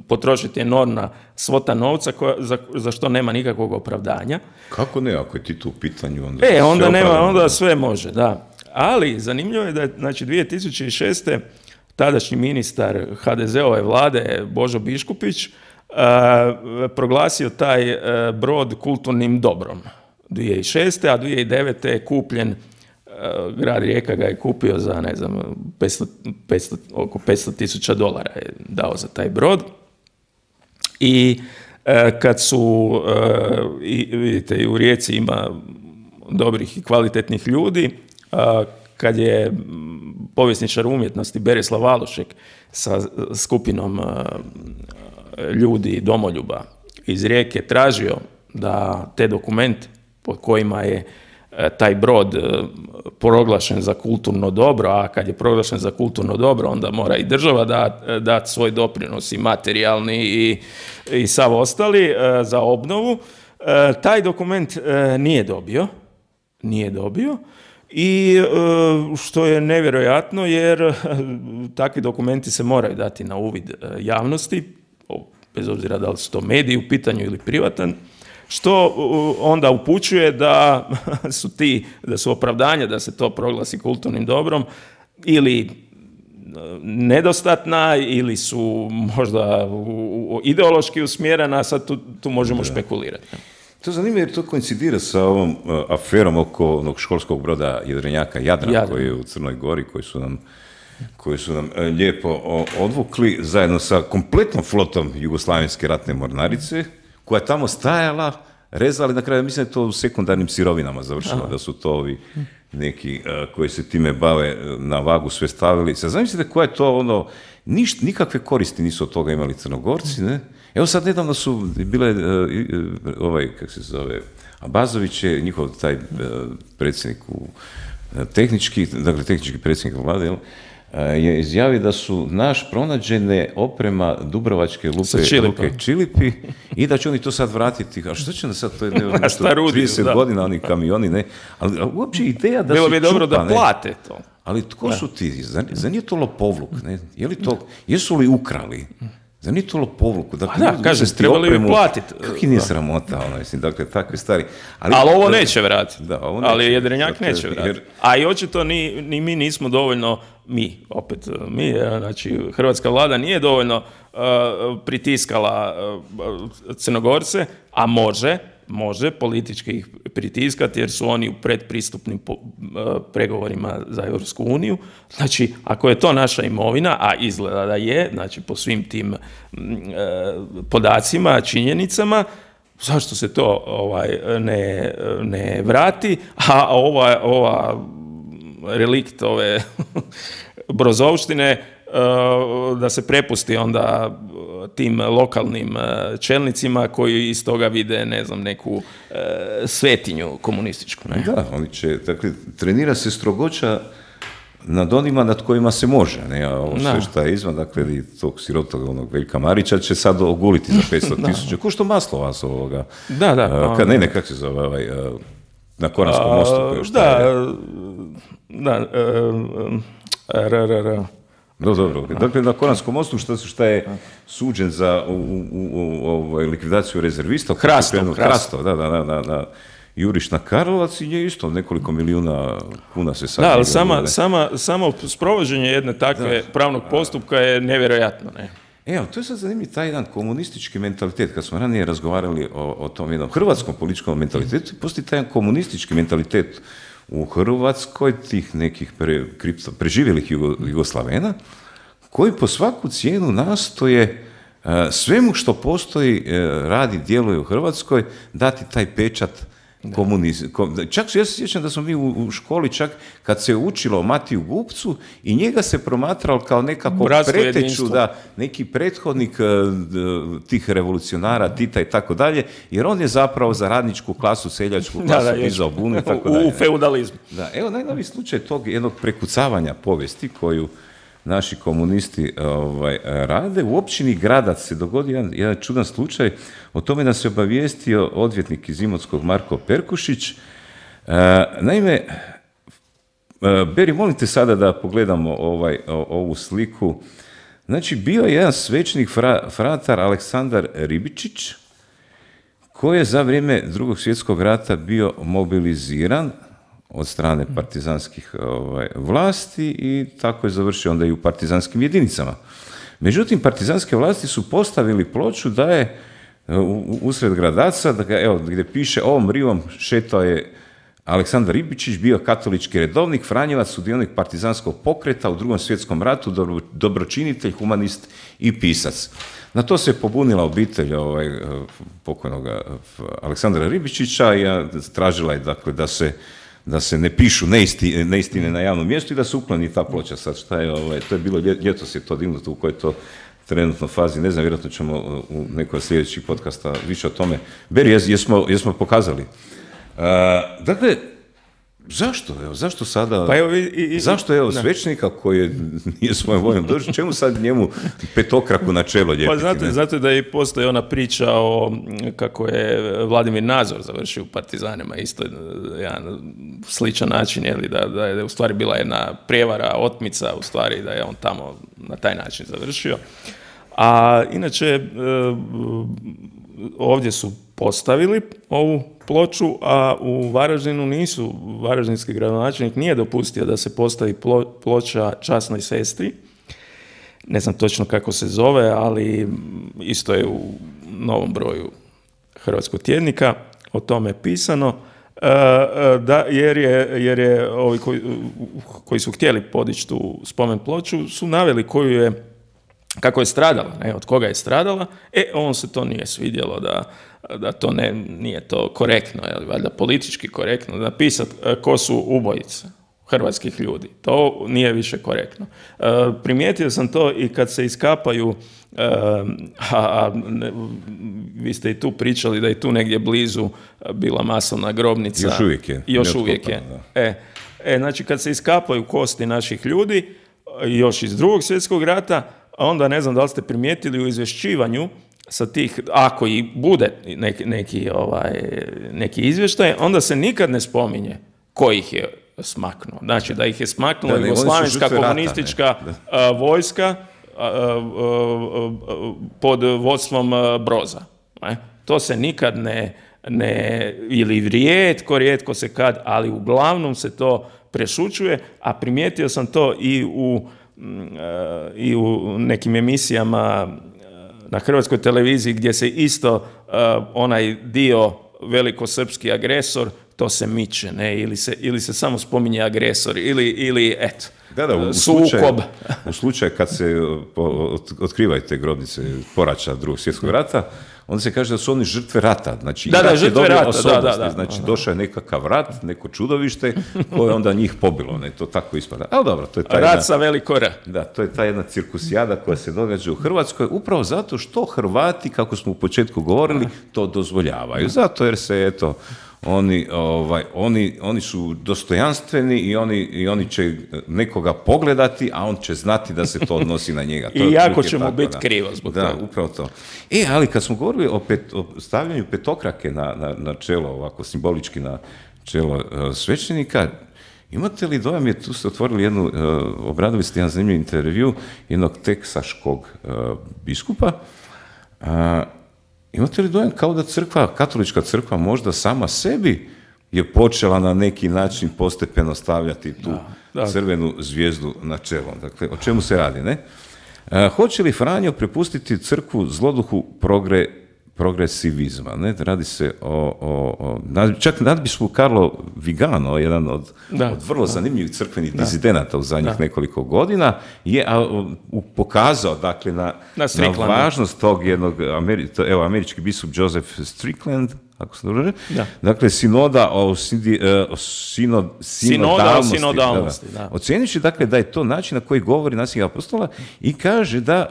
potrošiti enormna svota novca za što nema nikakvog opravdanja. Kako ne, ako je Tito u pitanju, onda sve može, da. Ali zanimljivo je da je, znači, 2006. tadašnji ministar HDZ-ove vlade Božo Biškupić proglasio taj brod kulturnim dobrom 2006. a 2009. je kupljen, grad Rijeka ga je kupio za, ne znam, oko $500,000 je dao za taj brod. I kad su, vidite, i u Rijeci ima dobrih i kvalitetnih ljudi, kad je povjesničar umjetnosti Berislav Valušek sa skupinom ljudi domoljuba iz Rijeke tražio da te dokumente pod kojima je taj brod proglašen za kulturno dobro, a kad je proglašen za kulturno dobro, onda mora i država dati svoj doprinos i materijalni i sav ostali za obnovu. Taj dokument nije dobio. I što je nevjerojatno, jer takvi dokumenti se moraju dati na uvid javnosti, bez obzira da li su to mediji u pitanju ili privatan, što onda upućuje da su opravdanja da se to proglasi kulturnim dobrom ili nedostatna ili su možda ideološki usmjerena, sad tu možemo špekulirati. To je zanimljivo jer to koincidira sa ovom aferom oko onog školskog broda jedrenjaka Jadran koji je u Crnoj Gori, koji su nam lijepo odvukli zajedno sa kompletnom flotom Jugoslavenske ratne mornarice, koja je tamo stajala, rezali, na kraju mislim da je to u sekundarnim sirovinama završilo, da su to ovi neki koji se time bave na vagu sve stavili. Sad zamislite koja je to nikakve koristi nisu od toga imali Crnogorci, ne? Evo sad nedavno su bile, Abazović je njihov taj predsjednik tehnički predsjednik vlade, je izjavio da su pronađene oprema Dubrovačke luke Čilipi i da će oni to sad vratiti. A što će nam sad, to je 30 godina oni kamioni, ne? Ali uopće ideja da bilo bi dobro da plate to. Ali tko su ti? Zar nije to lopovluk? Ne? Jesu li ukrali? Zar nije to lopovluku? Kažem, trebali bi platiti. Kako nije sramota, dakle, takve stvari. Ali ovo neće vratiti. Ali jedrenjak neće vratiti. A i očito ni mi nismo dovoljno, znači hrvatska vlada nije dovoljno pritiskala Crnogorce, a može politički ih pritiskati jer su oni u predpristupnim pregovorima za Europsku uniju. Znači, ako je to naša imovina, a izgleda da je, znači po svim tim podacima, činjenicama, zašto se to ne vrati? A ova relikt ove brozovštine da se prepusti onda tim lokalnim čelnicima koji iz toga vide, ne znam, neku svetinju komunističku. Ne? Da, oni će, dakle, trenira se strogoća nad onima nad kojima se može, ne, a ovo sve što je izvan, dakle, i tog sirotog onog Veljka Marića će sad oguliti za 500,000, ko što maslo vas ovoga. Da. Kako se zove, na Koranskom mostu. Dobro. Dakle, na Koranskom mostu šta je suđen za likvidaciju rezervista. Hrastov. Da. juriš na Karlovac i nje isto nekoliko milijuna kuna se sad... Da, ali samo sprovođenje jedne takve pravnog postupka je nevjerojatno, ne? Evo, to je sad zanimljiv taj jedan komunistički mentalitet. Kad smo ranije razgovarali o tom jednom hrvatskom političkom mentalitetu, postoji taj jedan komunistički mentalitet u Hrvatskoj, tih nekih preživjelih Jugoslavena, koji po svaku cijenu nastoje svemu što postoji, radi, djeluje u Hrvatskoj, dati taj pečat komunizmu. Čak ja se sjećam da smo mi u školi, čak kad se učilo o Matiju Gupcu, i njega se promatralo kao nekako preteču, da, neki prethodnik tih revolucionara, Tita i tako dalje, jer on je zapravo za radničku klasu, seljačku klasu dizao bunu i tako dalje. U feudalizmu. Da, evo najnoviji slučaj tog jednog prekucavanja povijesti koju naši komunisti rade. U općini Gradac se dogodio jedan čudan slučaj. O tome nas je obavijestio odvjetnik iz Imotskog Marko Perkušić. Naime, Beri, molim te sada da pogledamo ovu sliku. Znači, bio je jedan svećenik, fratar Aleksandar Ribičić, koji je za vrijeme Drugog svjetskog rata bio mobiliziran od strane partizanskih vlasti i tako je završio onda i u partizanskim jedinicama. Međutim, partizanske vlasti su postavili ploču da je usred Gradaca, gdje piše ovom rivom šetao je Aleksandar Ribičić, bio katolički redovnik, Franjevac, sudionik partizanskog pokreta u Drugom svjetskom ratu, dobročinitelj, humanist i pisac. Na to se pobunila obitelj pokojnog Aleksandra Ribičića i tražila je dakle da se ne pišu neistine na javnom mjestu i da se ukloni ta ploča. Sad šta je, to je bilo ljetos je to dignuto, u kojoj to trenutno fazi, ne znam, vjerojatno ćemo u nekoj sljedećih podcasta više o tome. Beri, jesmo pokazali. Dakle, zašto sada, zašto svećenika koji nije svojom voljom došao, čemu sad njemu petokraku na čelo ljepiti? Pa zato da i postoji ona priča o kako je Vladimir Nazor završio u partizanima, isto jedan sličan način, da je u stvari bila jedna prijevara, otmica, u stvari da je on tamo na taj način završio. A inače, ovdje su postavili ovu ploču, a u Varaždinu nisu, varaždinski gradonačelnik nije dopustio da se postavi ploča časnoj sestri. Ne znam točno kako se zove, ali isto je u novom broju Hrvatskog tjednika o tome pisano, jer je ovi koji su htjeli podići tu spomen ploču su naveli kako je stradala, od koga je stradala, on se to nije svidjelo, da to nije to korektno, valjda politički korektno, napisati ko su ubojice hrvatskih ljudi. To nije više korektno. Primijetio sam to i kad se iskapaju, vi ste i tu pričali da je tu negdje blizu bila masovna grobnica. Još uvijek je. Znači, kad se iskapaju kosti naših ljudi, još iz Drugog svjetskog rata, onda ne znam da li ste primijetili u izvješćivanju sa tih, ako i bude neki izvještaj, onda se nikad ne spominje ko ih je smaknuo. Znači da ih je smaknula jugoslavenska komunistička vojska pod vodstvom Broza. To se nikad ne ili rijetko se kad, ali uglavnom se to prešućuje, a primijetio sam to i u nekim emisijama na Hrvatskoj televiziji gdje se isto onaj dio velikosrpski agresor, to se miče, ili se samo spominje agresor, ili eto, sukob. U slučaju kad se otkrivaju te grobnice poraća Drugog svjetskog rata, onda se kaže da su oni žrtve rata. Znači, žrtve rata, Znači, došao je nekakav rat, neko čudovište koje onda njih pobilo. To tako ispada. Ali dobro, to je ta rat sa veliko R. Da, to je ta jedna cirkusijada koja se događa u Hrvatskoj, upravo zato što Hrvati, kako smo u početku govorili, to dozvoljavaju. Zato jer se, oni su dostojanstveni i oni će nekoga pogledati, a on će znati da se to odnosi na njega. I jako će mu biti krivo zbog toga. Da, upravo to. Ali kad smo govorili o stavljanju petokrake na čelo, ovako simbolički na čelo svećenika, imate li dojam, tu ste otvorili obradili ste jedan zanimljiv intervju jednog teksaškog biskupa, imate li dojam kao da katolička crkva možda sama sebi je počela na neki način postepeno stavljati tu crvenu zvijezdu na čelo. Dakle, o čemu se radi, ne? Hoće li Franjo prepustiti crkvu zloduhu progresivizma? Ne? Radi se čak nadbiskup Carlo Vigano, jedan od vrlo zanimljivih crkvenih dizidenata u zadnjih nekoliko godina, je pokazao dakle, na važnost tog jednog, američki biskup Joseph Strickland, ako se dobro, dakle, sinoda o sinodalnosti. Ocjenjujući, dakle, da je to način na koji govori nasljednik apostola i kaže da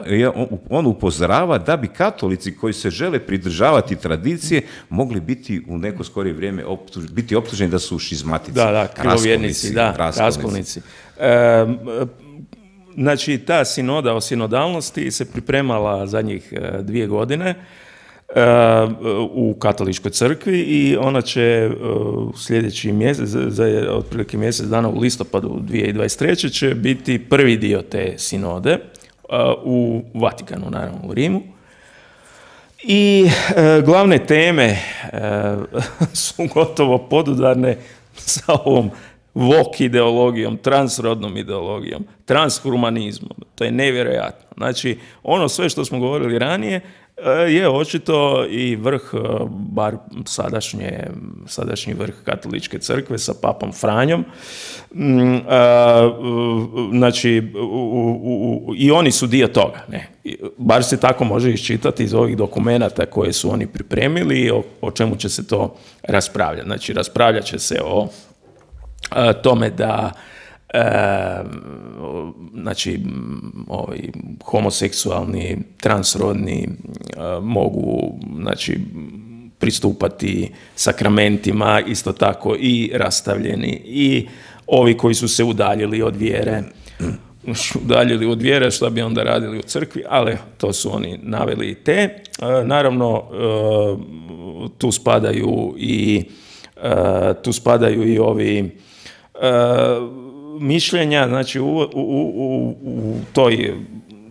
on upozorava da bi katolici koji se žele pridržavati tradicije mogli biti u neko skorije vrijeme biti optuženi da su šizmatici. Krivovjernici, raskolnici. Znači, ta sinoda o sinodalnosti se pripremala zadnjih 2 godine u katoličkoj crkvi i ona će sljedeći mjesec, za otprilike mjesec dana u listopadu 2023. će biti prvi dio te sinode u Vatikanu, naravno u Rimu. I glavne teme su gotovo podudarne sa ovom woke ideologijom, transrodnom ideologijom, transhumanizmom. To je nevjerojatno. Znači, ono sve što smo govorili ranije je očito i vrh, bar sadašnji vrh katoličke crkve sa papom Franjom. Znači, i oni su dio toga. Ne? Bar se tako može iščitati iz ovih dokumenata koje su oni pripremili i o čemu će se to raspravljati. Znači, raspravljat će se o tome da znači, ovi homoseksualni, transrodni mogu, znači, pristupati sakramentima, isto tako i rastavljeni, i ovi koji su se udaljili od vjere, šta bi onda radili u crkvi, ali to su oni naveli i te. Naravno, tu spadaju i ovi mišljenja, znači u toj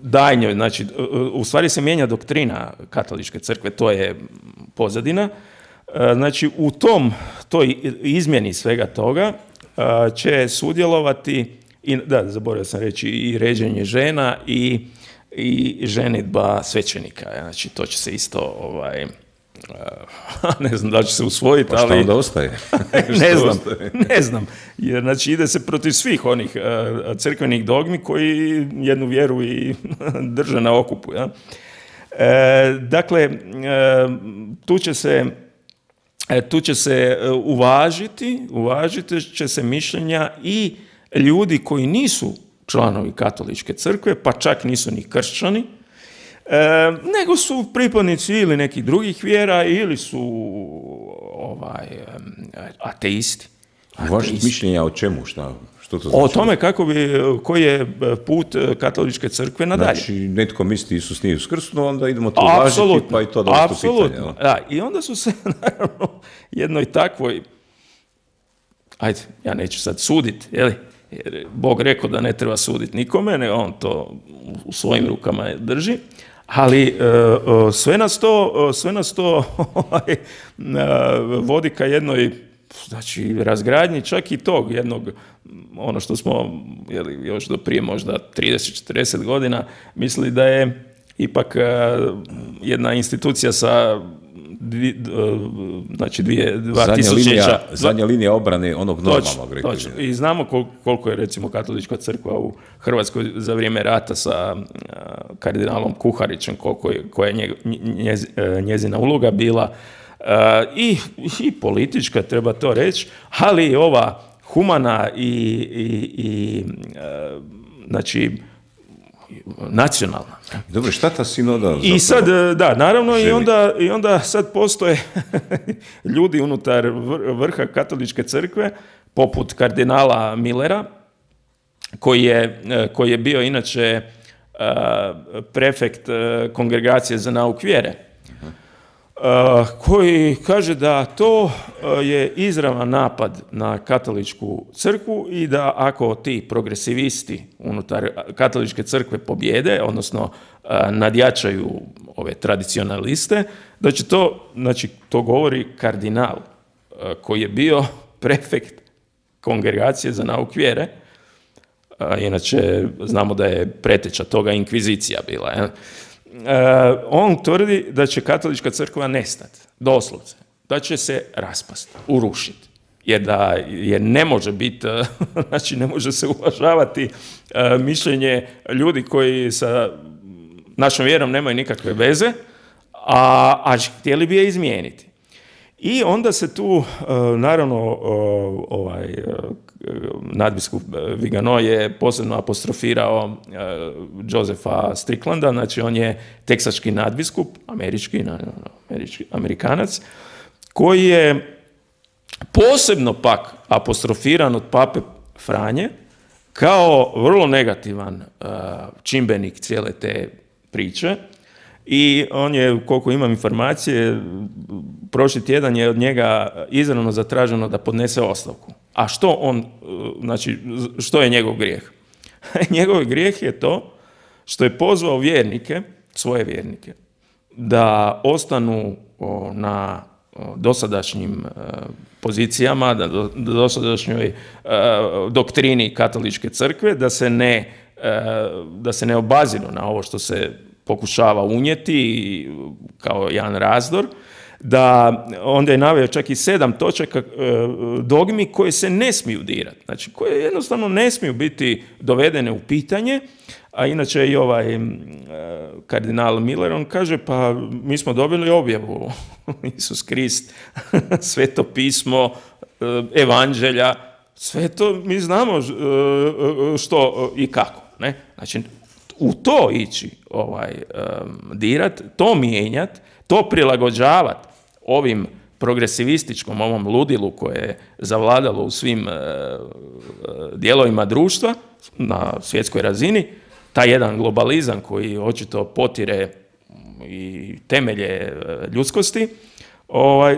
daljnjoj, znači u stvari se mijenja doktrina katoličke crkve, to je pozadina. Znači u toj izmjeni svega toga će sudjelovati i, zaboravio sam reći, i ređenje žena i ženidba svećenika. Znači to će se isto ne znam da će se usvojiti, ali... Pa šta onda ostaje? Ne znam. Jer, znači, ide se protiv svih onih crkvenih dogmi koji jednu vjeru i drže na okupu. Ja? Dakle, tu će se uvažiti će se mišljenja i ljudi koji nisu članovi katoličke crkve, pa čak nisu ni kršćani, nego su pripadnici ili nekih drugih vjera ili su ateisti. Uvažiti mišljenja o čemu? Što to znači? O tome koji je put katoličke crkve nadalje. Znači, netko misli Isus nije uskrsnuo, onda idemo to uvažiti, pa i to doći u pitanje. Da, i onda su se, naravno, jednoj takvoj, ajde, ja neću sad suditi, jer Bog rekao da ne treba suditi nikome, nego on to u svojim rukama drži. Ali sve nas to vodi ka jednoj, znači, razgradnji čak i tog jednog, ono što smo još do prije možda 30-40 godina mislili da je ipak jedna institucija sa dva tisućeća. Zadnja linija obrane onog normalnog. Točno. I znamo koliko je, recimo, katolička crkva u Hrvatskoj za vrijeme rata sa kardinalom Kuharićem, koja je njezina uloga bila i politička, treba to reći, ali i ova humana i znači, nacionalna. Dobro, šta ta sinoda? I sad, naravno, i onda sad postoje ljudi unutar vrha katoličke crkve, poput kardinala Millera, koji je bio inače prefekt Kongregacije za nauk vjere, koji kaže da to je izravan napad na katoličku crkvu i da ako ti progresivisti unutar katoličke crkve pobjede, odnosno nadjačaju ove tradicionaliste, da će to, znači to govori kardinal koji je bio prefekt kongregacije za nauk vjere. Inače, znamo da je preteča toga inkvizicija bila. On tvrdi da će katolička crkva nestati, doslovce, da će se raspasti, urušiti. Jer ne može biti, znači ne može se uvažavati mišljenje ljudi koji sa našom vjerom nemaju nikakve veze, a htjeli bi je izmijeniti. I onda se tu, naravno, nadbiskup Vigano je posebno apostrofirao Josepha Stricklanda, znači on je teksački nadbiskup, Amerikanac, koji je posebno pak apostrofiran od pape Franje kao vrlo negativan čimbenik cijele te priče. I on je, koliko imam informacije, prošli tjedan je od njega izravno zatraženo da podnese ostavku. A što je njegov grijeh? Njegov grijeh je to što je pozvao vjernike, svoje vjernike, da ostanu na dosadašnjim pozicijama, da dosadašnjoj doktrini katoličke crkve, da se ne obaziru na ovo što se pokušava unijeti kao jedan razdor, da onda je naveo čak i 7 točaka dogmi koje se ne smiju dirati, znači koje jednostavno ne smiju biti dovedene u pitanje, a inače i kardinal Miller, on kaže, pa mi smo dobili objavu, Isus Krist, Sveto pismo, evanđelja, sve to mi znamo što i kako, ne? Znači, u to ići dirat, to mijenjat, to prilagođavat ovim progresivističkom, ovom ludilu koje je zavladalo u svim dijelovima društva na svjetskoj razini, taj jedan globalizam koji očito potire i temelje ljudskosti,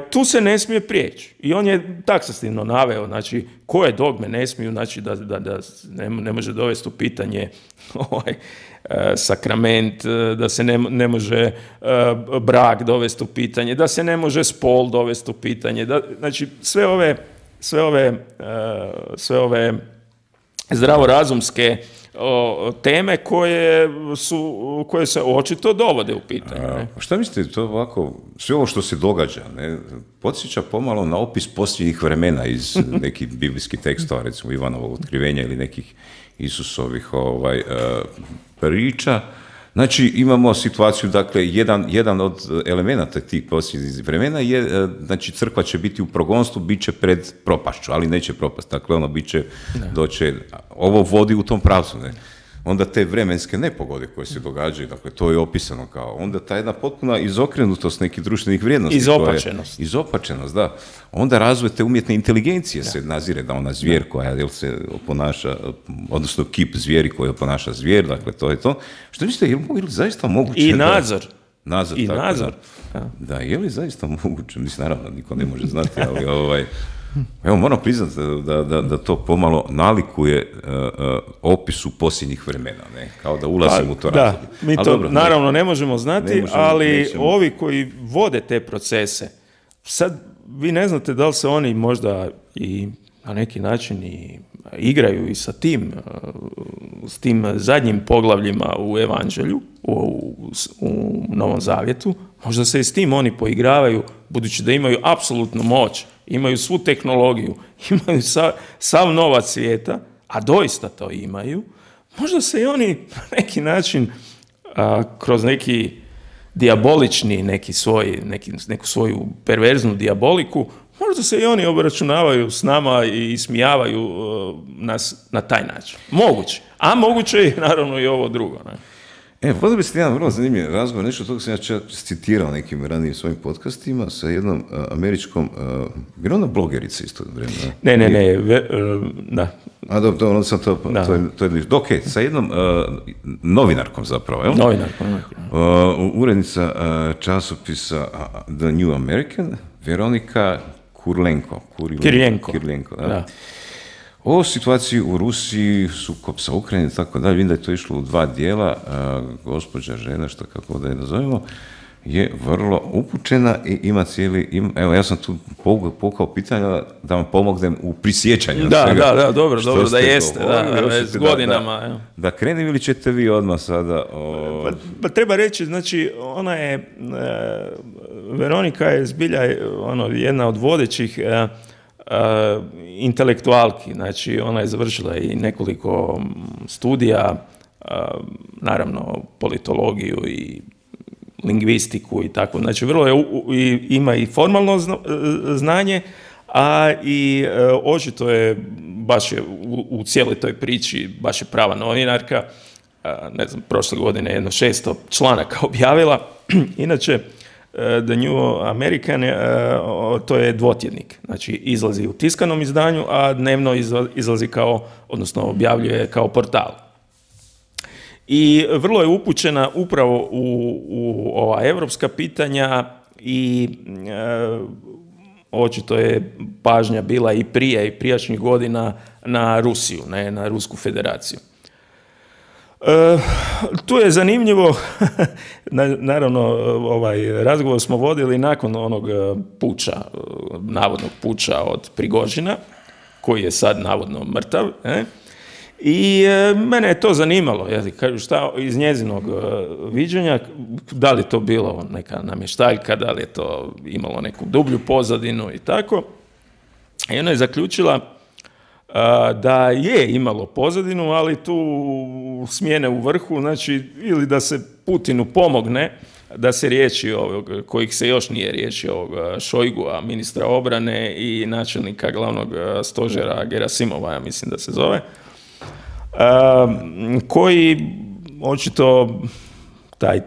tu se ne smije prijeći. I on je taksativno naveo, znači, koje dogme ne smiju, znači da ne može dovesti u pitanje sakrament, da se ne može brak dovesti u pitanje, da se ne može spol dovesti u pitanje, znači sve ove zdravorazumske teme koje se očito dovode u pitanje. Šta mislite, to ovako, sve ovo što se događa, ne, podsjeća pomalo na opis posljednjih vremena iz nekih biblijskih tekstova, recimo Ivanovog otkrivenja ili nekih Isusovih priča. Znači, imamo situaciju, dakle, jedan od elemenata tih posljednjih vremena je, znači, crkva će biti u progonstvu, bit će pred propašću, ali neće propast, dakle, ono bit će, doće, ovo vodi u tom pravcu, ne. Onda te vremenske nepogode koje se događaju, dakle, to je opisano kao, onda ta jedna potpuna izokrenutost nekih društvenih vrijednosti. Izopačenost, da. Onda razvoj te umjetne inteligencije se nazire da ona zvijer koja se ponaša, odnosno kip zvijeri koja ponaša zvijer, dakle, to je to. Što mislite, je li zaista moguće? I nadzor. Da, je li zaista moguće? Mislim, naravno, niko ne može znati, ali evo, moram priznati da to pomalo nalikuje opisu posljednjih vremena, ne? Kao da ulazimo u to razdoblje. Da, mi to dobro, naravno ne možemo znati, ali ovi koji vode te procese, sad vi ne znate da li se oni možda i na neki način i igraju i sa s tim zadnjim poglavljima u Evanđelju, u Novom Zavjetu, možda se i s tim oni poigravaju, budući da imaju apsolutnu moć, imaju svu tehnologiju, imaju sav novac svijeta, a doista to imaju, možda se i oni na neki način kroz neki dijabolični, neku svoju perverznu dijaboliku, možda se i oni obračunavaju s nama i ismijavaju nas na taj način. Moguće. A moguće je naravno i ovo drugo. Ne? Vodili biste jedan vrlo zanimljiv razgovor, nešto toga sam ja citirao nekim ranijim svojim podcastima sa jednom američkom, jer ona blogerica isto vremena? Ne, da. A dobro, onda sam to je ok, sa jednom novinarkom zapravo, jel? Novinarkom. Urednica časopisa The New American, Veronika Kirilenko, da. O situaciji u Rusiji, sukob sa Ukrajinom i tako dalje, vidim da je to išlo u 2 dijela, gospođa žena, što kako da je nazovemo, je vrlo upućena i ima evo ja sam tu povukao pitanja da vam pomognem u prisjećanju svega. Da, dobro, da jeste, s godinama. Da krenem ili ćete vi odmah sada? Pa treba reći, znači, ona je, Veronika je zbilja jedna od vodećih intelektualki, znači ona je završila i nekoliko studija, naravno politologiju i lingvistiku i tako, znači vrlo je, ima i formalno znanje, a i očito je, baš je u cijeloj toj priči, baš je prava novinarka, ne znam, prošle godine jedno 600 članaka objavila, inače The New American, to je dvotjednik, znači izlazi u tiskanom izdanju, a dnevno izlazi odnosno objavljuje kao portal. I vrlo je upućena upravo u ova evropska pitanja i očito je pažnja bila i prije i prijašnjih godina na Rusiju, ne, na Rusku federaciju. Tu je zanimljivo, naravno ovaj razgovor smo vodili nakon onog puča, navodnog puča od Prigožina, koji je sad navodno mrtav, i mene je to zanimalo, šta iz njezinog viđenja, da li to bilo neka namještaljka, da li je to imalo neku dublju pozadinu i tako. I ona je zaključila da je imalo pozadinu, ali tu smjene u vrhu, znači ili da se Putinu pomogne da se riješi ovog, kojih se još nije riješio, ovog Šojgua, ministra obrane i načelnika glavnog stožera Gerasimova, ja mislim da se zove, koji očito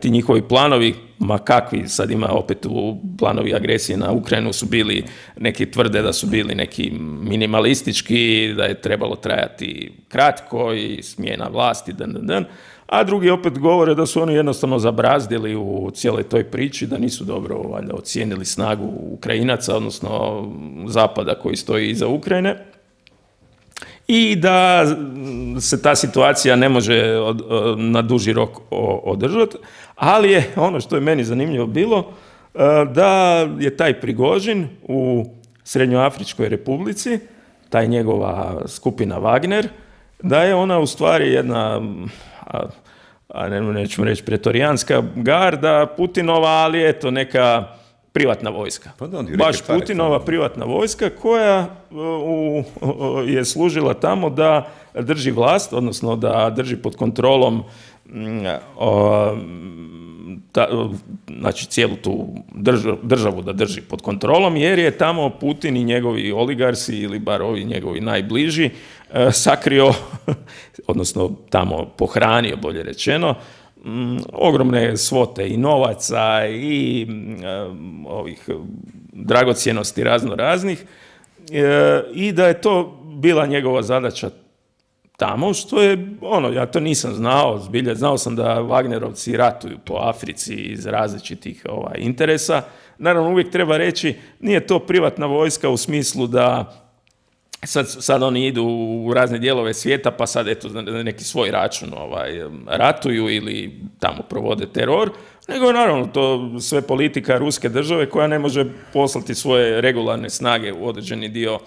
ti njihovi planovi, ma kakvi, sad ima opet u planovi agresije na Ukrajinu su bili, neki tvrde da su bili neki minimalistički, da je trebalo trajati kratko i smjena vlasti, a drugi opet govore da su oni jednostavno zabrazdili u cijeloj toj priči, da nisu dobro valjda ocijenili snagu Ukrajinaca, odnosno Zapada koji stoji iza Ukrajine, i da se ta situacija ne može na duži rok održati, ali je ono što je meni zanimljivo bilo da je taj Prigožin u Srednjoafričkoj Republici, taj njegova skupina Wagner, da je ona u stvari jedna, nećemo reći pretorijanska garda Putinova, ali eto neka privatna vojska. Baš Putinova privatna vojska koja je služila tamo da drži vlast, odnosno da drži pod kontrolom znači cijelu tu državu da drži pod kontrolom, jer je tamo Putin i njegovi oligarsi, ili bar ovi njegovi najbliži, sakrio, odnosno tamo pohranio, bolje rečeno, ogromne svote i novaca i ovih dragocjenosti raznih, i da je to bila njegova zadaća tamo, što je, ja to nisam znao, zbilja, znao sam da Wagnerovci ratuju po Africi iz različitih interesa. Naravno, uvijek treba reći, nije to privatna vojska u smislu da sad oni idu u razne dijelove svijeta, pa sad eto na neki svoj račun ratuju ili tamo provode teror, nego naravno to sve politika ruske države koja ne može poslati svoje regularne snage u određeni dio.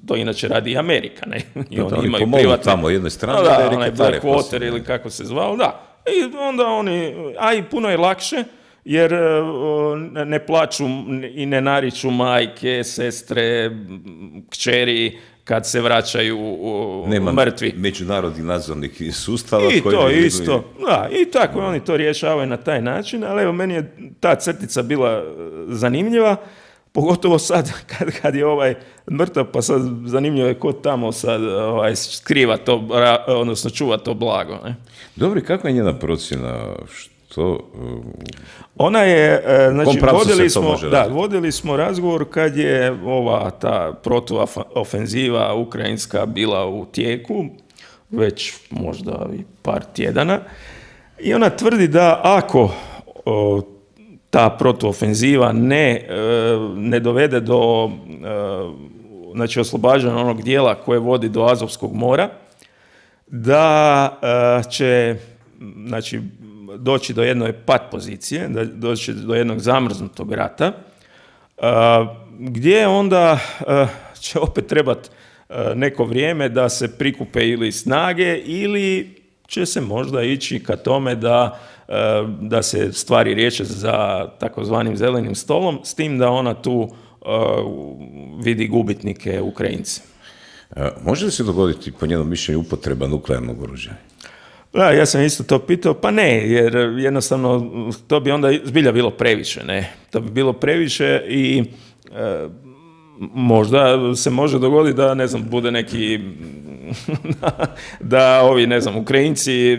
To inače radi i Amerika, ne? I oni imaju privatne tamo jednoj strani, onaj Blackwater ili kako se zvao, da. I onda oni, a i puno je lakše, jer ne plaću i ne nariču majke, sestre, kćeri kad se vraćaju mrtvi. Nema međunarodnih nadzornih sustava. I to isto, da, i tako oni to rješavaju na taj način, ali evo, meni je ta crtica bila zanimljiva, pogotovo sad kad je mrtav, pa sad zanimljivo je ko tamo sad skriva to, odnosno čuva to blago. Ne? Dobro, kakva je njena procjena? Što? Ona je, znači, vodili smo razgovor kad je ta protuofenziva ukrajinska bila u tijeku, već možda i par tjedana, i ona tvrdi da ako ta protuofenziva ne dovede do znači oslobađanja onog dijela koje vodi do Azovskog mora, da će, znači, doći do jedne pat pozicije, da doći do jednog zamrznutog rata, gdje onda će opet trebati neko vrijeme da se prikupe ili snage ili će se možda ići ka tome da se stvari riješe za takozvanim zelenim stolom, s tim da ona tu vidi gubitnike Ukrajinci. Može li se dogoditi, po njenom mišljenju, upotreba nuklearnog oružja? Da, ja sam isto to pitao, pa ne, jer jednostavno to bi onda zbilja bilo previše, ne. To bi bilo previše i možda se može dogoditi da, ne znam, bude neki, da ovi, ne znam, Ukrajinci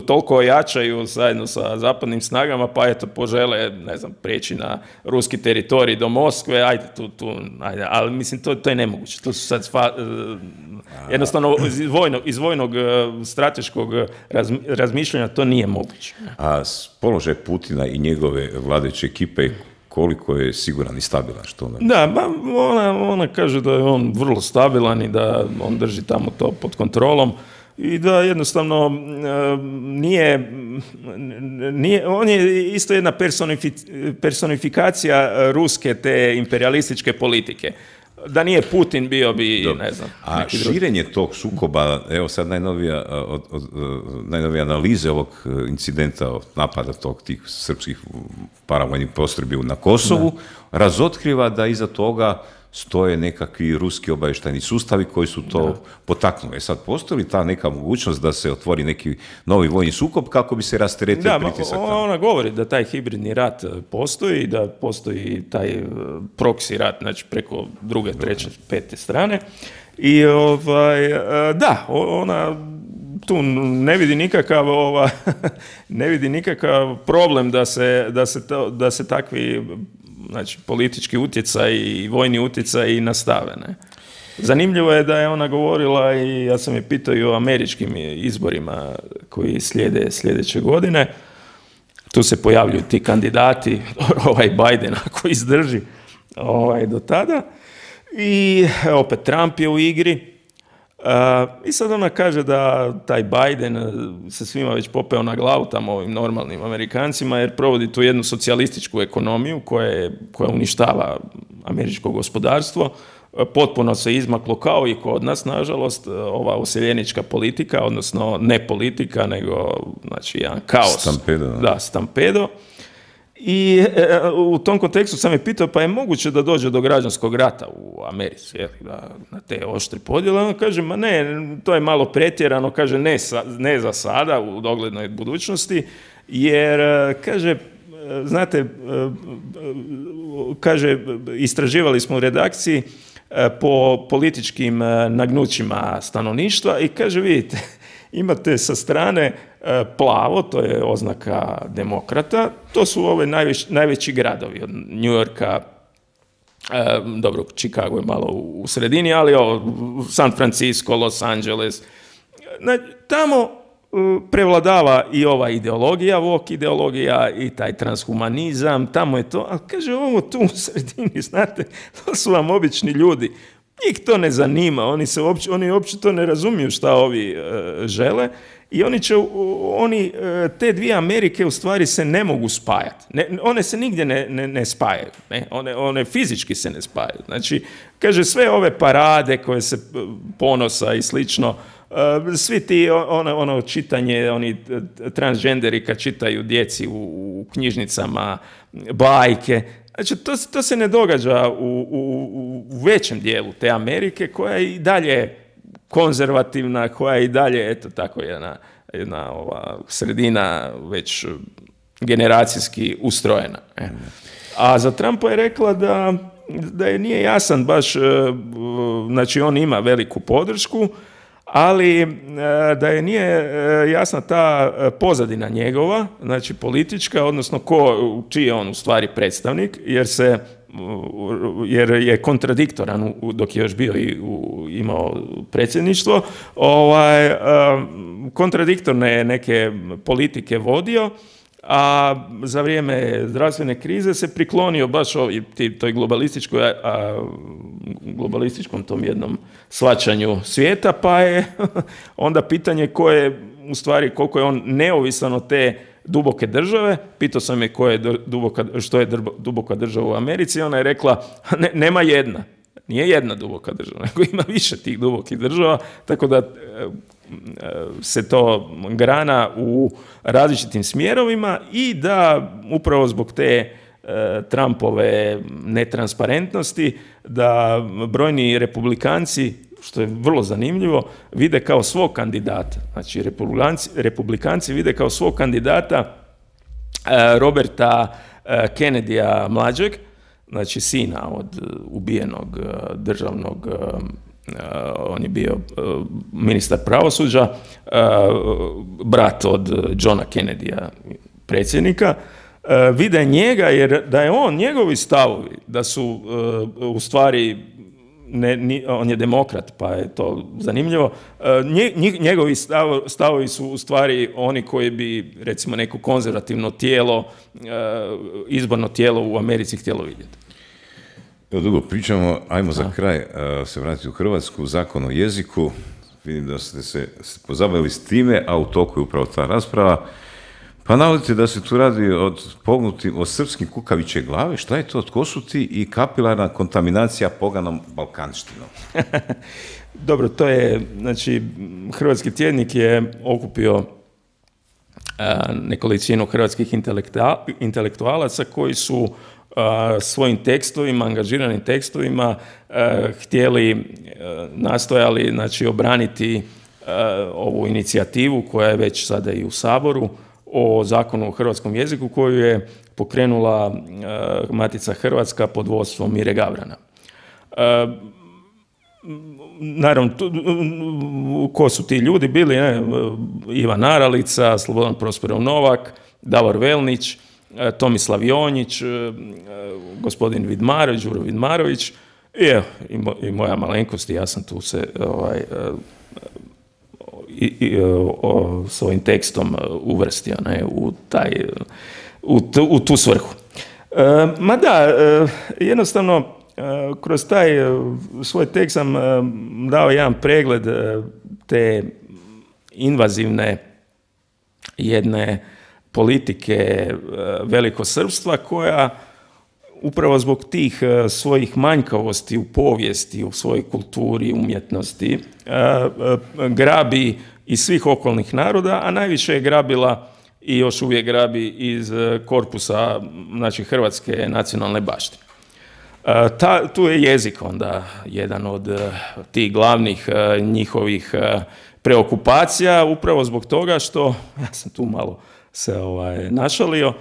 toliko ojačaju zajedno sa zapadnim snagama, pa eto, požele, ne znam, prijeći na ruski teritorij do Moskve, ajde, ajde, ali mislim, to je nemoguće. To su sad jednostavno iz vojnog strateškog razmišljanja to nije moguće. A položaj Putina i njegove vladajuće ekipe, koliko je siguran i stabilan? Što ona... Da, ona kaže da je on vrlo stabilan i da on drži tamo to pod kontrolom i da jednostavno nije, on je isto jedna personifikacija ruske te imperialističke politike. Da nije Putin bio bi, dobro, ne znam. A širenje tog sukoba, evo sad najnovije analize ovog incidenta, napada tih srpskih paravojnih postrojbi na Kosovu, razotkriva da iza toga stoje nekakvi ruski obavještajni sustavi koji su to potaknuli. Sad, postoji li ta neka mogućnost da se otvori neki novi vojni sukob kako bi se rasteretio pritisak? Da, ona govori da taj hibridni rat postoji, da postoji taj proxy rat, znači preko druge, treće, pete strane. I da, ona tu ne vidi nikakav problem da se takvi, znači, politički utjecaj i vojni utjecaj nastave, ne. Zanimljivo je da je ona govorila, i ja sam je pitao i o američkim izborima koji slijede sljedeće godine. Tu se pojavljuju ti kandidati, ovaj Biden ako izdrži do tada. I opet Trump je u igri. I sad ona kaže da taj Biden se svima već popeo na glavu tamo ovim normalnim Amerikancima jer provodi tu jednu socijalističku ekonomiju koja uništava američko gospodarstvo. Potpuno se izmaklo kao i kod nas, nažalost, ova useljenička politika, odnosno ne politika, nego znači jedan kaos. Stampedo. Da, stampedo. I u tom kontekstu sam je pitao, pa je moguće da dođe do građanskog rata u Americi, na te oštre podjele? On kaže, ma ne, to je malo pretjerano, kaže, ne za sada, u doglednoj budućnosti, jer, kaže, znate, kaže, istraživali smo u redakciji po političkim nagnućima stanovništva i kaže, vidite, imate sa strane plavo, to je oznaka demokrata, to su ove najveći gradovi, od New Yorka, dobro, Chicago je malo u sredini, ali San Francisco, Los Angeles, tamo prevladava i ova ideologija, woke ideologija i taj transhumanizam, tamo je to, ali kaže, ovo tu u sredini, znate, to su vam obični ljudi. Njih to ne zanima, oni uopće to ne razumiju šta ovi žele i oni te dvije Amerike u stvari se ne mogu spajati. One se nigdje ne spajaju, ne? One fizički se ne spajaju. Znači, kaže, sve ove parade koje se ponosa i slično, svi ti, ono čitanje, oni transgenderi kad čitaju djeci u knjižnicama, bajke, znači, to se ne događa u većem dijelu te Amerike, koja je i dalje konzervativna, koja je i dalje, eto tako, jedna ova sredina već generacijski ustrojena. A za Trumpa je rekla da je nije jasan baš, znači on ima veliku podršku, ali da je nije jasna ta pozadina njegova, znači politička, odnosno čiji je on u stvari predstavnik, jer je kontradiktoran dok je još bio imao predsjedništvo, kontradiktorne neke politike vodio, a za vrijeme zdravstvene krize se priklonio baš toj globalističkom tom jednom shvaćanju svijeta, pa je onda pitanje koliko je on neovisan od te duboke države, pitao sam je što je duboka država u Americi, ona je rekla, nema jedna. Nije jedna duboka država, nego ima više tih dubokih država, tako da se to grana u različitim smjerovima i da upravo zbog te Trumpove netransparentnosti, da brojni republikanci, što je vrlo zanimljivo, vide kao svog kandidata. Znači, republikanci vide kao svog kandidata Roberta Kennedyja mlađeg, znači sina od ubijenog državnog, on je bio ministar pravosuđa, brat od Johna Kennedyja, predsjednika, vide njega jer da je njegovi stavovi, da su u stvari, on je demokrat, pa je to zanimljivo, njegovi stavovi su u stvari oni koji bi, recimo, neko konzervativno tijelo, izborno tijelo u Americi htjelo vidjeti. Evo, dugo pričamo, ajmo za kraj se vratiti u Hrvatsku, Zakon o jeziku. Vidim da ste se pozabavili s time, a u toku je upravo ta rasprava. Pa navodite da se tu radi od srpskim kukaviće glave. Šta je to? Tko su ti? I kapilarna kontaminacija poganom balkanštinom. Dobro, to je, znači, Hrvatski tjednik je okupio nekolicinu hrvatskih intelektualaca koji su svojim tekstovima, angažiranim tekstovima nastojali, znači, obraniti ovu inicijativu koja je već sada i u Saboru o Zakonu o hrvatskom jeziku koju je pokrenula Matica Hrvatska pod vodstvom Mire Gavrana. Naravno, ko su ti ljudi bili? Ivan Aralica, Slobodan Prosperov Novak, Davor Velnić, Tomislav Jonjić, gospodin Vidmarović, Đuro Vidmarović i moja malenkost, i ja sam tu se svojim tekstom uvrstio u tu svrhu. Ma da, jednostavno kroz taj svoj tekst sam dao jedan pregled te invazivne jedne politike velikosrpstva koja upravo zbog tih svojih manjkavosti u povijesti, u svojoj kulturi, umjetnosti, grabi iz svih okolnih naroda, a najviše je grabila i još uvijek grabi iz korpusa, znači, hrvatske nacionalne baštine. Tu je jezik onda jedan od tih glavnih njihovih preokupacija, upravo zbog toga što, ja sam tu malo se našalio,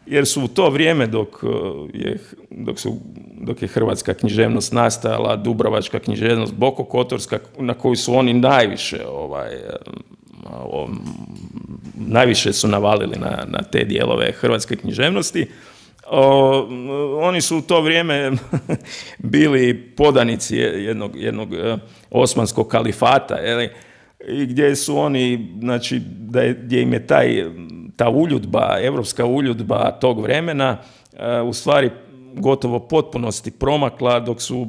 jer su u to vrijeme dok je hrvatska književnost nastajala, dubrovačka književnost, bokokotorska, na koju su oni najviše su navalili na te dijelove hrvatske književnosti, oni su u to vrijeme bili podanici jednog osmanskog kalifata, i gdje su oni, znači, gdje im je ta uljudba, evropska uljudba tog vremena u stvari gotovo potpunosti promakla, dok su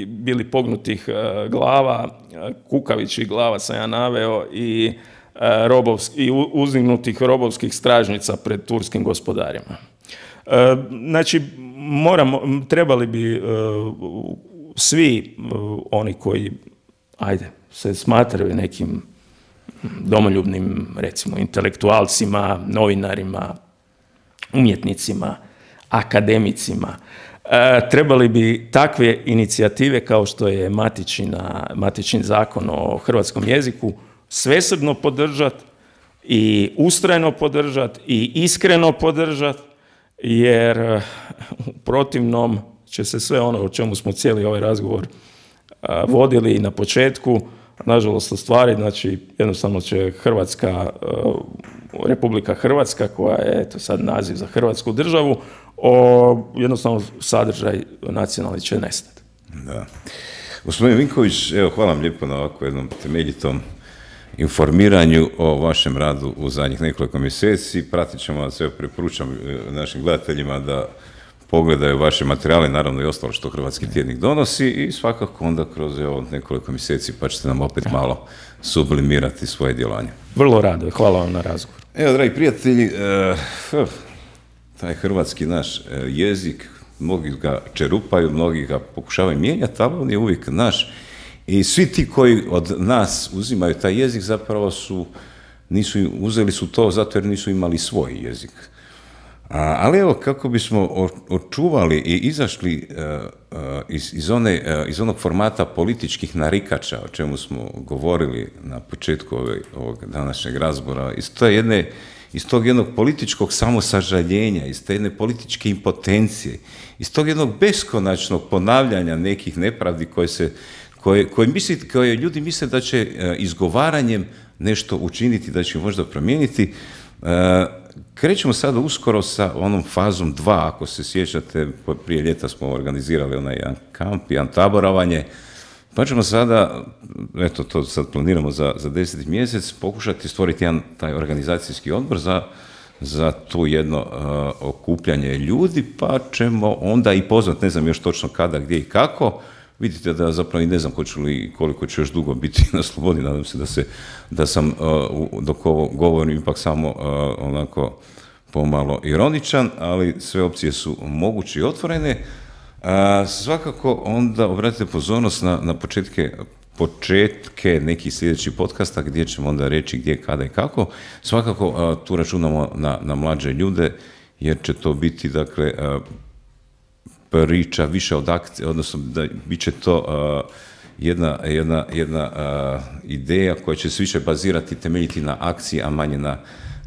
bili pognutih glava, kukavičih glava sam ja naveo, i uzdignutih robovskih stražnica pred turskim gospodarima. Znači, trebali bi svi oni koji, se smatraju nekim domoljubnim, recimo, intelektualcima, novinarima, umjetnicima, akademicima, trebali bi takve inicijative kao što je Matičin zakon o hrvatskom jeziku svesrdno podržati i ustrajno podržati i iskreno podržati, jer u protivnom će se sve ono o čemu smo cijeli ovaj razgovor vodili na početku, nažalost, ostvari. Znači, jednostavno će Republika Hrvatska, koja je eto sad naziv za Hrvatsku državu, jednostavno sadržaj nacionalni će nestati. Da. Gospodin Vinković, evo, hvala vam lijepo na ovako jednom temeljitom informiranju o vašem radu u zadnjih nekoliko mjeseci. Pratit ćemo vas, evo, preporučam našim gledateljima da pogledaju vaše materijale, naravno i ostalo što Hrvatski tjednik donosi i svakako onda kroz nekoliko mjeseci pa ćete nam opet malo sublimirati svoje djelovanje. Vrlo rado, hvala vam na razgovor. Evo, dragi prijatelji, taj hrvatski naš jezik, mnogi ga čerupaju, mnogi ga pokušavaju mijenjati, ali on je uvijek naš. I svi ti koji od nas uzimaju taj jezik zapravo uzeli su to zato jer nisu imali svoj jezik. Ali evo, kako bismo očuvali i izašli iz onog formata političkih narikača, o čemu smo govorili na početku ovog današnjeg razgovora, iz tog jednog političkog samosažaljenja, iz te jedne političke impotencije, iz tog jednog beskonačnog ponavljanja nekih nepravdi koje ljudi misle da će izgovaranjem nešto učiniti, da će možda promijeniti. Krećemo sada uskoro sa onom fazom 2, ako se sjećate, prije ljeta smo organizirali onaj jedan kamp, jedan taboravanje, pa ćemo sada, eto to sad planiramo za 10. mjesec, pokušati stvoriti jedan taj organizacijski odbor za tu jedno okupljanje ljudi, pa ćemo onda i pozvati, ne znam još točno kada, gdje i kako. Vidite da zapravo i ne znam koliko ću još dugo biti na slobodi, nadam se da sam dok ovo govorim ipak samo onako pomalo ironičan, ali sve opcije su moguće i otvorene. Svakako onda obratite pozornost na početke nekih sljedećih podcasta gdje ćemo onda reći gdje, kada i kako. Svakako tu računamo na mlađe ljude jer će to biti dakle priča više od akcije, odnosno da bit će to jedna ideja koja će se više bazirati, temeljiti na akciji, a manje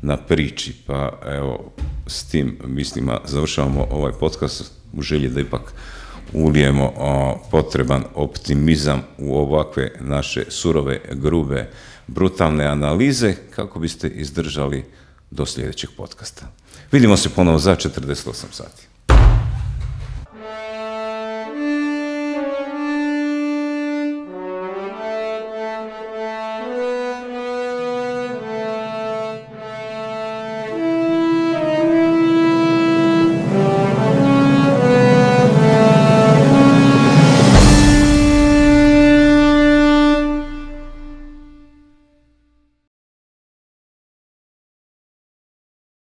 na priči. Pa evo, s tim mislima završavamo ovaj podcast u želji da ipak ulijemo potreban optimizam u ovakve naše surove, grube, brutalne analize kako biste izdržali do sljedećeg podcasta. Vidimo se ponovo za 48 sati.